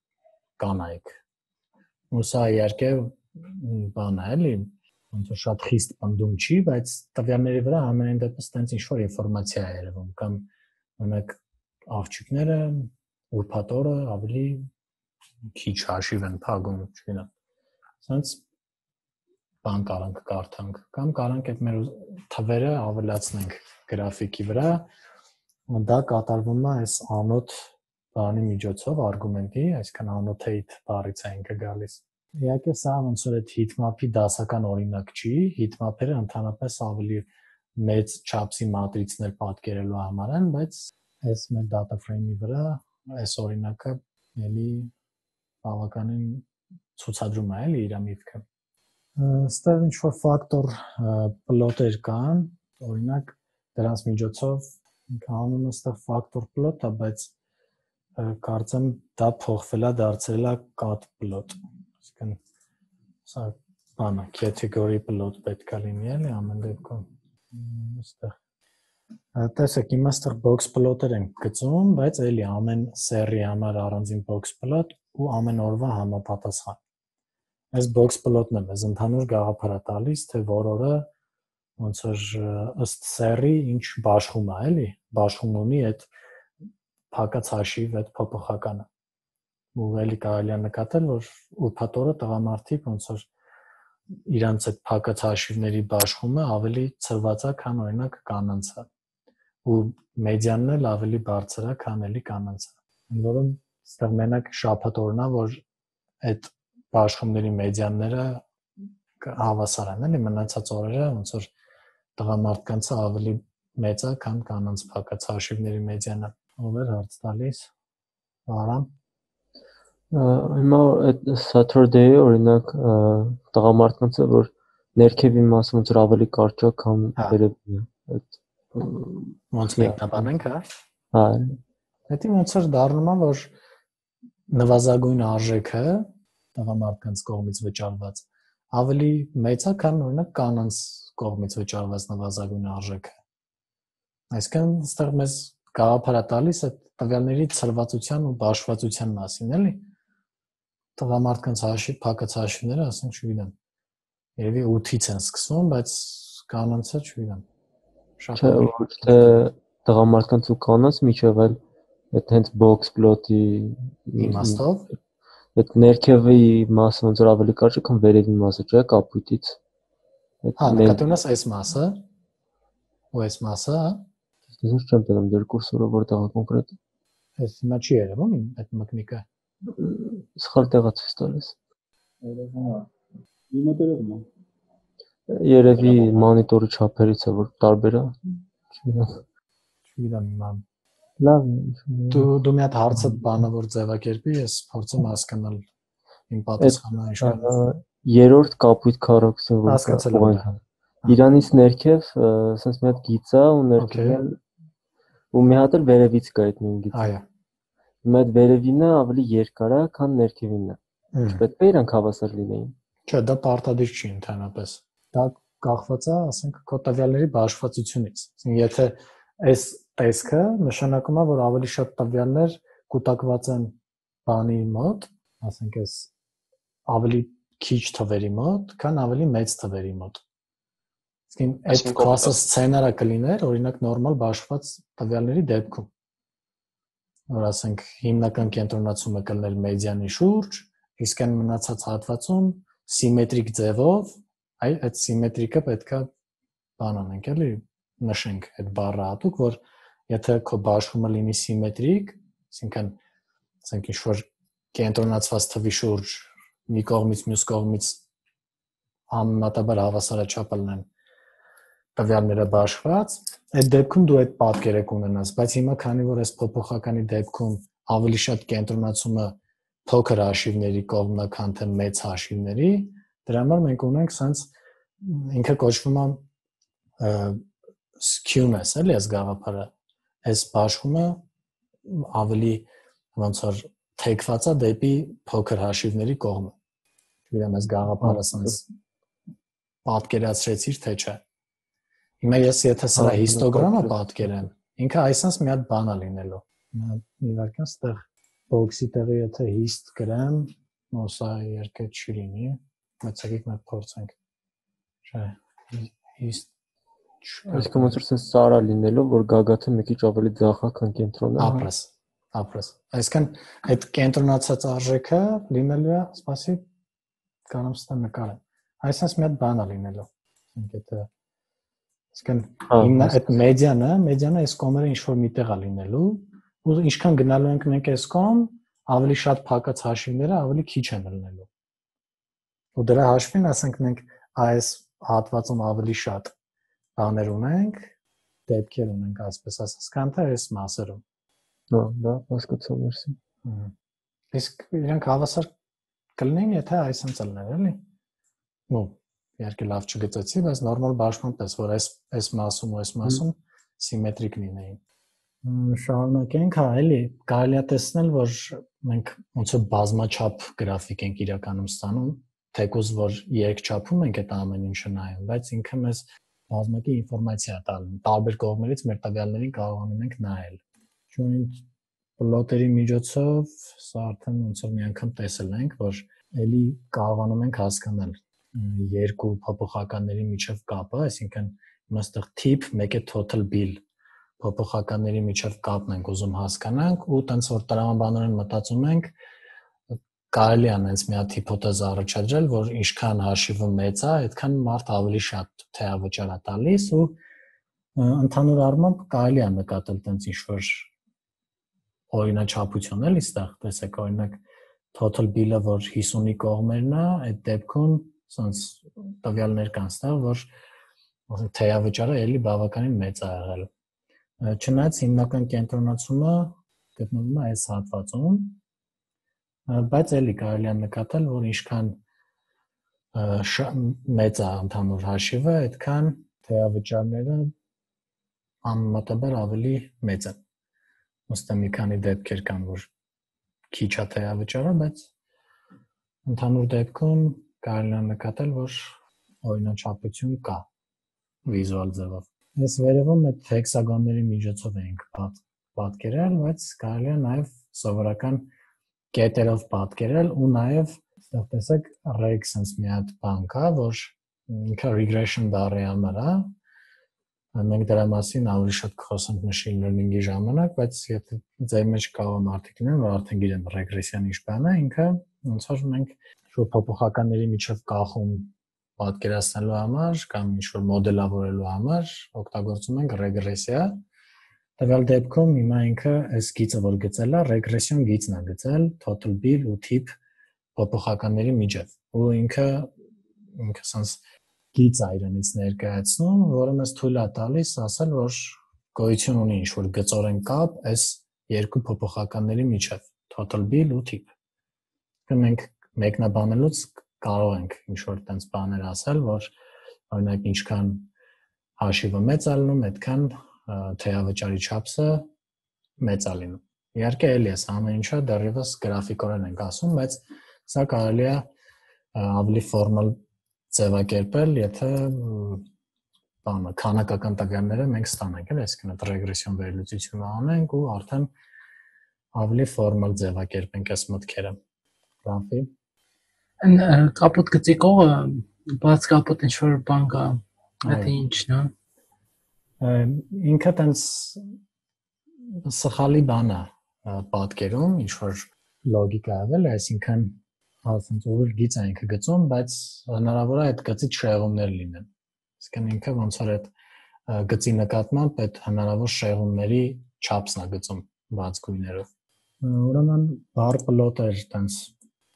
կանայք։ Ու սա իհարկե բան է, էլի, ոնց որ շատ խիստ պնդում չի, բայց տվյալների վրա ամենայն դեպս տենց ինչ-որ ինֆորմացիա է երևում, կամ օրինակ աղջիկները ուրբաթ օրը ավելի քիչ հաշիվ են փակում, չգիտեմ։ Սենց բան կարանք կարդանք, կամ կարանք այդ մեր թվերը ավելացնենք գրաֆիկի վրա, ու դա կատարվում է այս անոթ բանի միջոցով, արգումենտի, այսինքն annotate բառից է ինքը գալիս։ Իհարկե սա ոնց որ այդ heatmap-ի դասական օրինակ չի, heatmap-երը ընդհանրապես ավելի մեծ չափսի մատրիցներ պատկերելու համար են, բայց այս մեր data frame-ի վրա այս օրինակը էլի բավականին ցուցադրում է էլի իր միտքը։ Ստեղ ինչ-որ ֆակտոր պլոտեր կան, օրինակ դրանց միջոցով ինքը անունը ստեղ ֆակտոր պլոտ է, բայց կարծեմ դա փոխվել է, դարձել է cut plot, այսինքն սա բանը category plot պետք է լինի էլի ամեն դեպքում, այստեղ տեսեք, հիմա ստեղ box plot-եր են գծում, բայց էլի ամեն սեռի համար առանձին box plot ու ամեն օրվա համապատասխան։ Այս box plot-ն է մեզ ընդհանուր գաղափար է տալիս, թե որ օրը ոնց որ ըստ սեռի ինչ բաշխում է, էլի, բաշխում ունի այդ փակած հաշիվ այդ փոփոխականը։ Ու էլի կարելի է նկատել, որ ուրբաթ օրը տղամարդիկ ոնց որ իրանց այդ փակած հաշիվների բաշխումը ավելի ցրված է, քան օրինակ կանանցը։ Ու մեդիանն էլ ավելի բարձր է, քան էլի կանանցը։ Ընդ որում այստեղ մենակ շաբաթ օրն է, որ այդ բաշխումների մեդիանները հավասար են, էլի մնացած օրերը ոնց որ տղամարդկանցը ավելի մեծ է, քան կանանց փակած հաշիվների մեդիանը։ Ով էր հարց տալիս։ Արամ։ Հիմա այդ Saturday-ը օրինակ տղամարդկանցը որ ներքևի մասը ոնց որ ավելի կարճ է, քան վերևի է։ Այդ ոնց մեկնաբանենք, հա։ Հա։ Դա ոնց որ դառնում է, որ նվազագույն արժեքը տղամարդկանց կողմից վճարված ավելի մեծ է, քան օրինակ կանանց կողմից վճարված նվազագույն արժեքը։ Այսինքն այստեղ մեզ գաղափար է տալիս այդ տվյալների ցրվածության ու բաշխվածության մասին, էլի։ Տղամարդկանց հաշիվ, փակած հաշիվները, ասենք, չգիտեմ, երևի ութից են սկսվում, բայց կանանցը չգիտեմ։ Շատ ոչ թե տղամարդկանց ու կանանց միջև, այլ այդ հենց box plot-ի իմաստով այդ ներքևի մասը ոնց որ ավելի կարճ է, քան վերևի մասը, չէ՞, կապույտից։ Հա, նկատի ունես այս մասը ու այս մասը, հա։ Ես չեմ տեսնում դեր կուրսորը որտեղ է կոնկրետ։ Այս հիմա չի երևում այդ մկնիկը։ Սխալ տեղա ցույց տալիս։ Երևում է։ Հիմա երևում է։ Երևի մոնիտորի չափերից է որ տարբեր է։ Չգիտեմ հիմա։ Լավ։ Դու դու մի հատ հարցը բանը որ ձևակերպի, ես փորձեմ հասկանալ իմ պատասխանը ինչպես։ Երրորդ կապույտ քառակուսին որ հասկացել եմ։ Իրանից ներքև ասես մի հատ գիծ է ու ներքև ու մի հատ էլ վերևից կա այդ նույն գիծը։ Այո։ հիմա այդ վերևինը ավելի երկար է, քան ներքևինը։ Պետք է իրանք հավասար լինեին։ Չէ, դա պարտադիր չի ընդհանրապես։ Դա կախված է, ասենք, քո տվյալների բաշխվածությունից։ Եթե այս տեսքը նշանակում է, որ ավելի շատ տվյալներ կուտակված են բանի մոտ, ասենք, այս ավելի քիչ թվերի մոտ, քան ավելի մեծ թվերի մոտ։ Իսկ այդ կլասը սցենարը կլիներ, օրինակ նորմալ բաշխված տվյալների դեպքում, որ ասենք հիմնական կենտրոնացումը կլներ մեդիանի շուրջ, իսկ այն մնացած հատվածում սիմետրիկ ձևով, այ այդ սիմետրիկը պետքա բան անենք, էլի նշենք այդ բառը հատուկ, որ եթե քո բաշխումը լինի սիմետրիկ, այսինքն ասենք ինչ-որ կենտրոնացված թվի շուրջ մի կողմից մյուս կողմից համեմատաբար հավասարաչափ լինեն տվյալները բաշխված, այդ դեպքում դու այդ պատկերը կունենաս, բայց հիմա քանի որ այս փոփոխականի դեպքում ավելի շատ կենտրոնացումը փոքր հաշիվների կողմն է, քան թե մեծ հաշիվների, դրա համար մենք ունենք sense ինքը կոչվում է skewness, էլի այս գաղափարը, այս բաշխումը ավելի ոնց որ թեքված է դեպի փոքր հաշիվների կողմը։ Չգիտեմ, այս գաղափարը sense պատկերացրեցիր թե չէ։ Հիմա ես եթե սրա հիստոգրամը պատկերեմ, ինքը այսպես մի հատ բան է լինելու։ Մի վարքան ստեղ box-ի տեղը եթե hist գրեմ, սա երկը չի լինի, բայց եկեք մենք փորձենք։ Չէ, hist Այսինքն ոնց որ sense սարա լինելով, որ գագաթը մի քիչ ավելի ձախ է, քան կենտրոնը։ Ապրես, ապրես։ Այսինքն այդ կենտրոնացած արժեքը լինելու է, սպասի, կանեմ ստա նկարեմ։ Այսպես մի հատ բան է լինելու։ Ասենք եթե Իսկն այդ մեդիանը, մեդիանը այս կոմերը ինչ-որ միտեղ է լինելու, ու ինչքան գնալու ենք մենք այս կոմ, ավելի շատ փակած հաշիվները ավելի քիչ են լինելու։ Ու դրա հաշվին, ասենք մենք այս հատվածում ավելի շատ բաներ ունենք, դեպքեր ունենք, այսպես ասած, քան թե այս մասերում։ Հա, դա հասկացա, մերսի։ Իսկ իրանք հավասար կլինեն, եթե այսպես լիներ, էլի։ Նո Իհարկե լավ չգծեցի, բայց նորմալ բաշխման պես, որ այս այս մասում ու այս մասում սիմետրիկ լինեին։ Շարունակենք, հա, էլի կարելի է տեսնել, որ մենք ոնց որ բազմաչափ գրաֆիկ ենք իրականում ստանում, թեկուզ որ երկչափում ենք այդ ամեն ինչը նայում, բայց ինքը մեզ բազմակի ինֆորմացիա է տալու։ Տարբեր կողմերից մեր տվյալներին կարողանում ենք նայել։ Joint plot-երի միջոցով սա արդեն ոնց որ մի անգամ տեսել ենք, որ էլի կարողանում ենք հասկանալ երկու փոփոխականների միջև կապը, այսինքն հիմա այստեղ tip, մեկ է total bill փոփոխականների միջև կապն ենք ուզում հասկանանք ու տենց որ տրամաբանորեն մտածում ենք կարելի է այնպես մի հատ հիպոթեզ առաջադրել, որ ինչքան հաշիվը մեծ է, այդքան մարդ ավելի շատ թեավճար է տալիս ու ընդհանուր առմամբ կարելի է նկատել տենց ինչ-որ օրինաչափություն էլի այստեղ, տեսեք օրինակ total bill-ը, որ հիսունի կողմերն է, այդ դեպքում sense տվյալներ կան ստեղ, որ ասենք թեավճարը էլի բավականին մեծ է եղել։ Չնայած հիմնական կենտրոնացումը գտնվում է այս հատվածում, բայց էլի կարելի է նկատել, որ ինչքան մեծ է ընդհանուր հաշիվը, այդքան թեավճարները անմատաբար ավելի մեծ են։ Ոստը մի քանի դեպքեր կան, որ քիչ է թեավճարը, բայց ընդհանուր դեպքում կարելի է նկատել, որ օրինաչափություն կա վիզուալ ձևով։ Այս վերևում այդ հեքսագոնների միջոցով ենք պատկերել, բայց կարելի է նաև սովորական կետերով պատկերել ու նաև այստեղ տեսեք reg sense մի հատ բան կա, որ ինքը regression բառի համար է։ Մենք դրա մասին ավելի շատ կխոսենք machine learning-ի ժամանակ, բայց եթե ձեր մեջ կարող մարդիկ լինեն, որ արդեն գիտեն ռեգրեսիան ինչ բան է, ինքը ոնց որ մենք շուտ փոփոխականների միջև կախում պատկերացնելու համար կամ ինչ-որ մոդելավորելու համար օգտագործում ենք ռեգրեսիա։ Տվյալ դեպքում հիմա ինքը այս գիծը որ գծել է, ռեգրեսիոն գիծն է գծել total bill ու tip փոփոխականների միջև։ Ու ինքը ինքը sense գիծ է իրանից ներկայացնում, որը մեզ թույլ է տալիս ասել, որ գոյություն ունի ինչ-որ գծորեն կապ այս երկու փոփոխականների միջև total bill ու tip։ Մենք մեկնաբանելուց կարող ենք ինչ-որ տենց բաներ ասել, որ օրինակ ինչքան հաշիվը մեծ է լինում, այդքան թեավճարի չափսը մեծ է լինում։ Իհարկե էլի էս ամեն ինչը դեռևս գրաֆիկորեն ենք ասում, բայց սա կարելի է ավելի ֆորմալ ձևակերպել, եթե բանը քանակական տվյալները մենք ստանանք, էլ այսինքն այդ ռեգրեսիոն վերլուծությունը անենք ու արդեն ավելի ֆորմալ ձևակերպենք այս մտքերը։ Ռաֆի Այն կապոտ գծի կողը բաց կապոտ ինչ որ բան կա, դա ինչն է։ Ինքը տենց սխալի բան է պատկերում, ինչ որ լոգիկա ավել, այսինքն ասենք ուղիղ գիծ է ինքը գծում, բայց հնարավոր է այդ գծից շեղումներ լինեն։ Այսինքն ինքը ոնց որ այդ գծի նկատմամբ այդ հնարավոր շեղումների չափսն է գծում բաց գույներով։ Ուրեմն բար պլոտեր տենց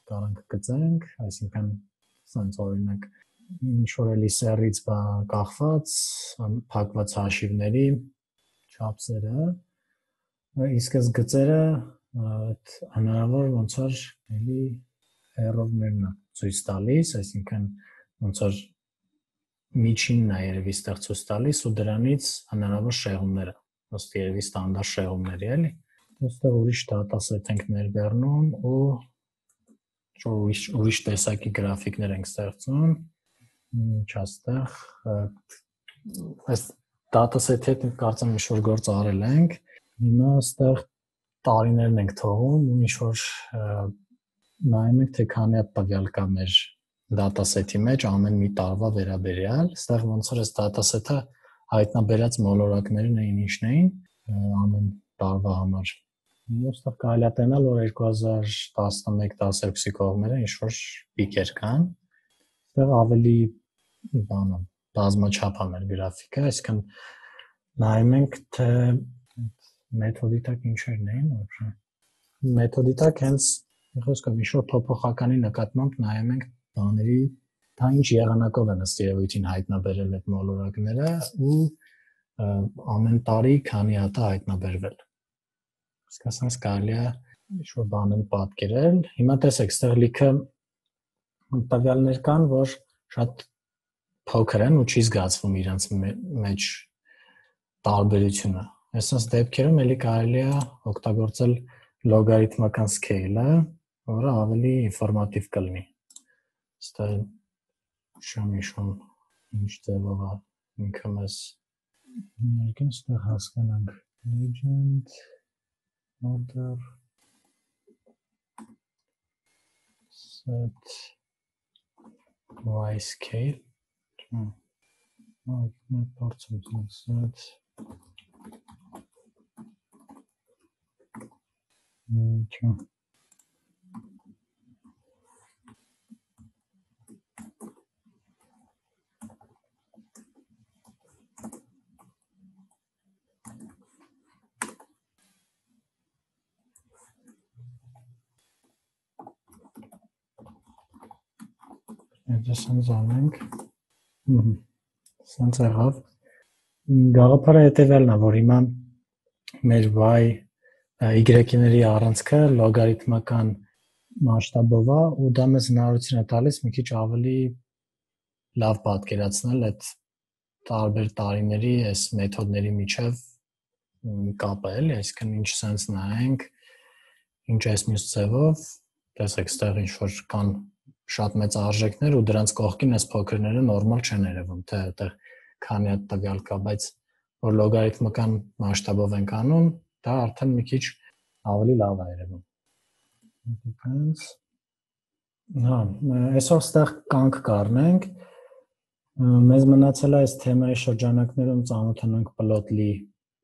կարանք գծենք, այսինքն սենց օրինակ ինչ որ էլի սերից կախված փակված հաշիվների չափսերը, իսկ այս գծերը այդ հնարավոր ոնց որ էլի error-ներն է ցույց տալիս, այսինքն ոնց որ միջինն է երևի ստեղ ցույց տալիս ու դրանից հնարավոր շեղումները, ըստ երևի ստանդարտ շեղումների էլի։ Այստեղ ուրիշ դատասեթ ենք ներբեռնում ու ուրիշ ուրիշ տեսակի գրաֆիկներ ենք ստեղծում։ Ինչ աստեղ այս դատասեթի հետ կարծեմ ինչ որ գործ արել ենք։ Հիմա այստեղ տարիներն ենք թողում ու ինչ որ նայում ենք թե քանի հատ տվյալ կա մեր դատասեթի մեջ ամեն մի տարվա վերաբերյալ։ Այստեղ ոնց որ այս դատասեթը հայտնաբերած մոլորակներն էին ինչն էին ամեն տարվա համար։ Այստեղ կարելի է տեսնել, որ երկու հազար տասնմեկ տասներկու կողմերը ինչ որ պիկեր կան։ Այստեղ ավելի բանը բազմաչափ է մեր գրաֆիկը, այսինքն նայում ենք թե մեթոդի տակ ինչերն էին, որ մեթոդի տակ հենց խոսքով ինչ որ փոփոխականի նկատմամբ նայում ենք բաների դա ինչ եղանակով են ըստ երևույթին հայտնաբերել այդ մոլորակները ու ամեն տարի քանի հատ է հայտնաբերվել։ Իսկ ասած կարելի է ինչ որ բաներ պատկերել։ Հիմա տեսեք, այստեղ լիքը տվյալներ կան, որ շատ փոքր են ու չի զգացվում իրենց մեջ տարբերությունը։ Այսպես դեպքերում էլի կարելի է օգտագործել լոգարիթմական scale-ը, որը ավելի ինֆորմատիվ կլինի։ Այստեղ շամիշում ինչ ձևով է ինքը մեզ ներկին այստեղ հասկանանք legend order set y scale Ահա մի փորձում set Ինչո՞։ Եթե սենց անենք, սենց եղավ, գաղափարը հետևյալն է, որ հիմա մեր y y-ների առանցքը լոգարիթմական մասշտաբով է ու դա մեզ հնարավորություն է տալիս մի քիչ ավելի լավ պատկերացնել այդ տարբեր տարիների այս մեթոդների միջև կապը, էլի, այսինքն ինչ սենց նայենք, ինչ այս մյուս ձևով, տեսեք, այստեղ ինչ որ կան շատ մեծ արժեքներ ու դրանց կողքին այս փոքրները նորմալ չեն երևում, թե այդտեղ քանի հատ տվյալ կա, բայց որ լոգարիթմական մասշտաբով ենք անում, դա արդեն մի քիչ ավելի լավ է երևում։ Depends. Հա, այսօր այստեղ կանք կառնենք։ Մեզ մնացել է այս թեմայի շրջանակներում ծանոթանանք plotly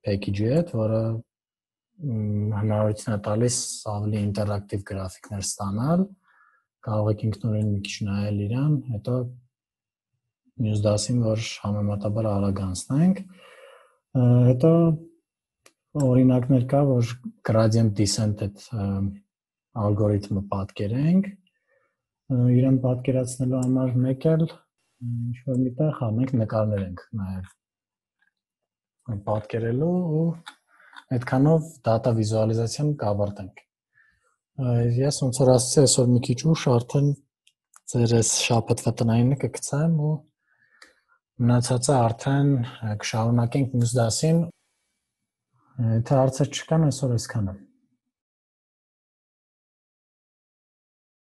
package-ի հետ, որը հնարավորություն է տալիս ավելի ինտերակտիվ գրաֆիկներ ստանալ։ Կարող եք ինքնուրույն մի քիչ նայել իրան, հետո մյուս դասին, որ համեմատաբար արագ անցնենք։ Հետո օրինակներ կա, որ gradient descent այդ ալգորիթմը պատկերենք։ Իրեն պատկերացնելու համար մեկ էլ ինչ որ միտեղ հա մենք նկարներ ենք նաև պատկերելու ու այդքանով data visualization կավարտենք։ Ես ոնց որ ասացի, այսօր մի քիչ ուշ արդեն ձեր այս շաբաթվա տնայինը կգցեմ ու մնացածը արդեն կշարունակենք մյուս դասին։ Եթե հարցեր չկան, այսօր այսքանը։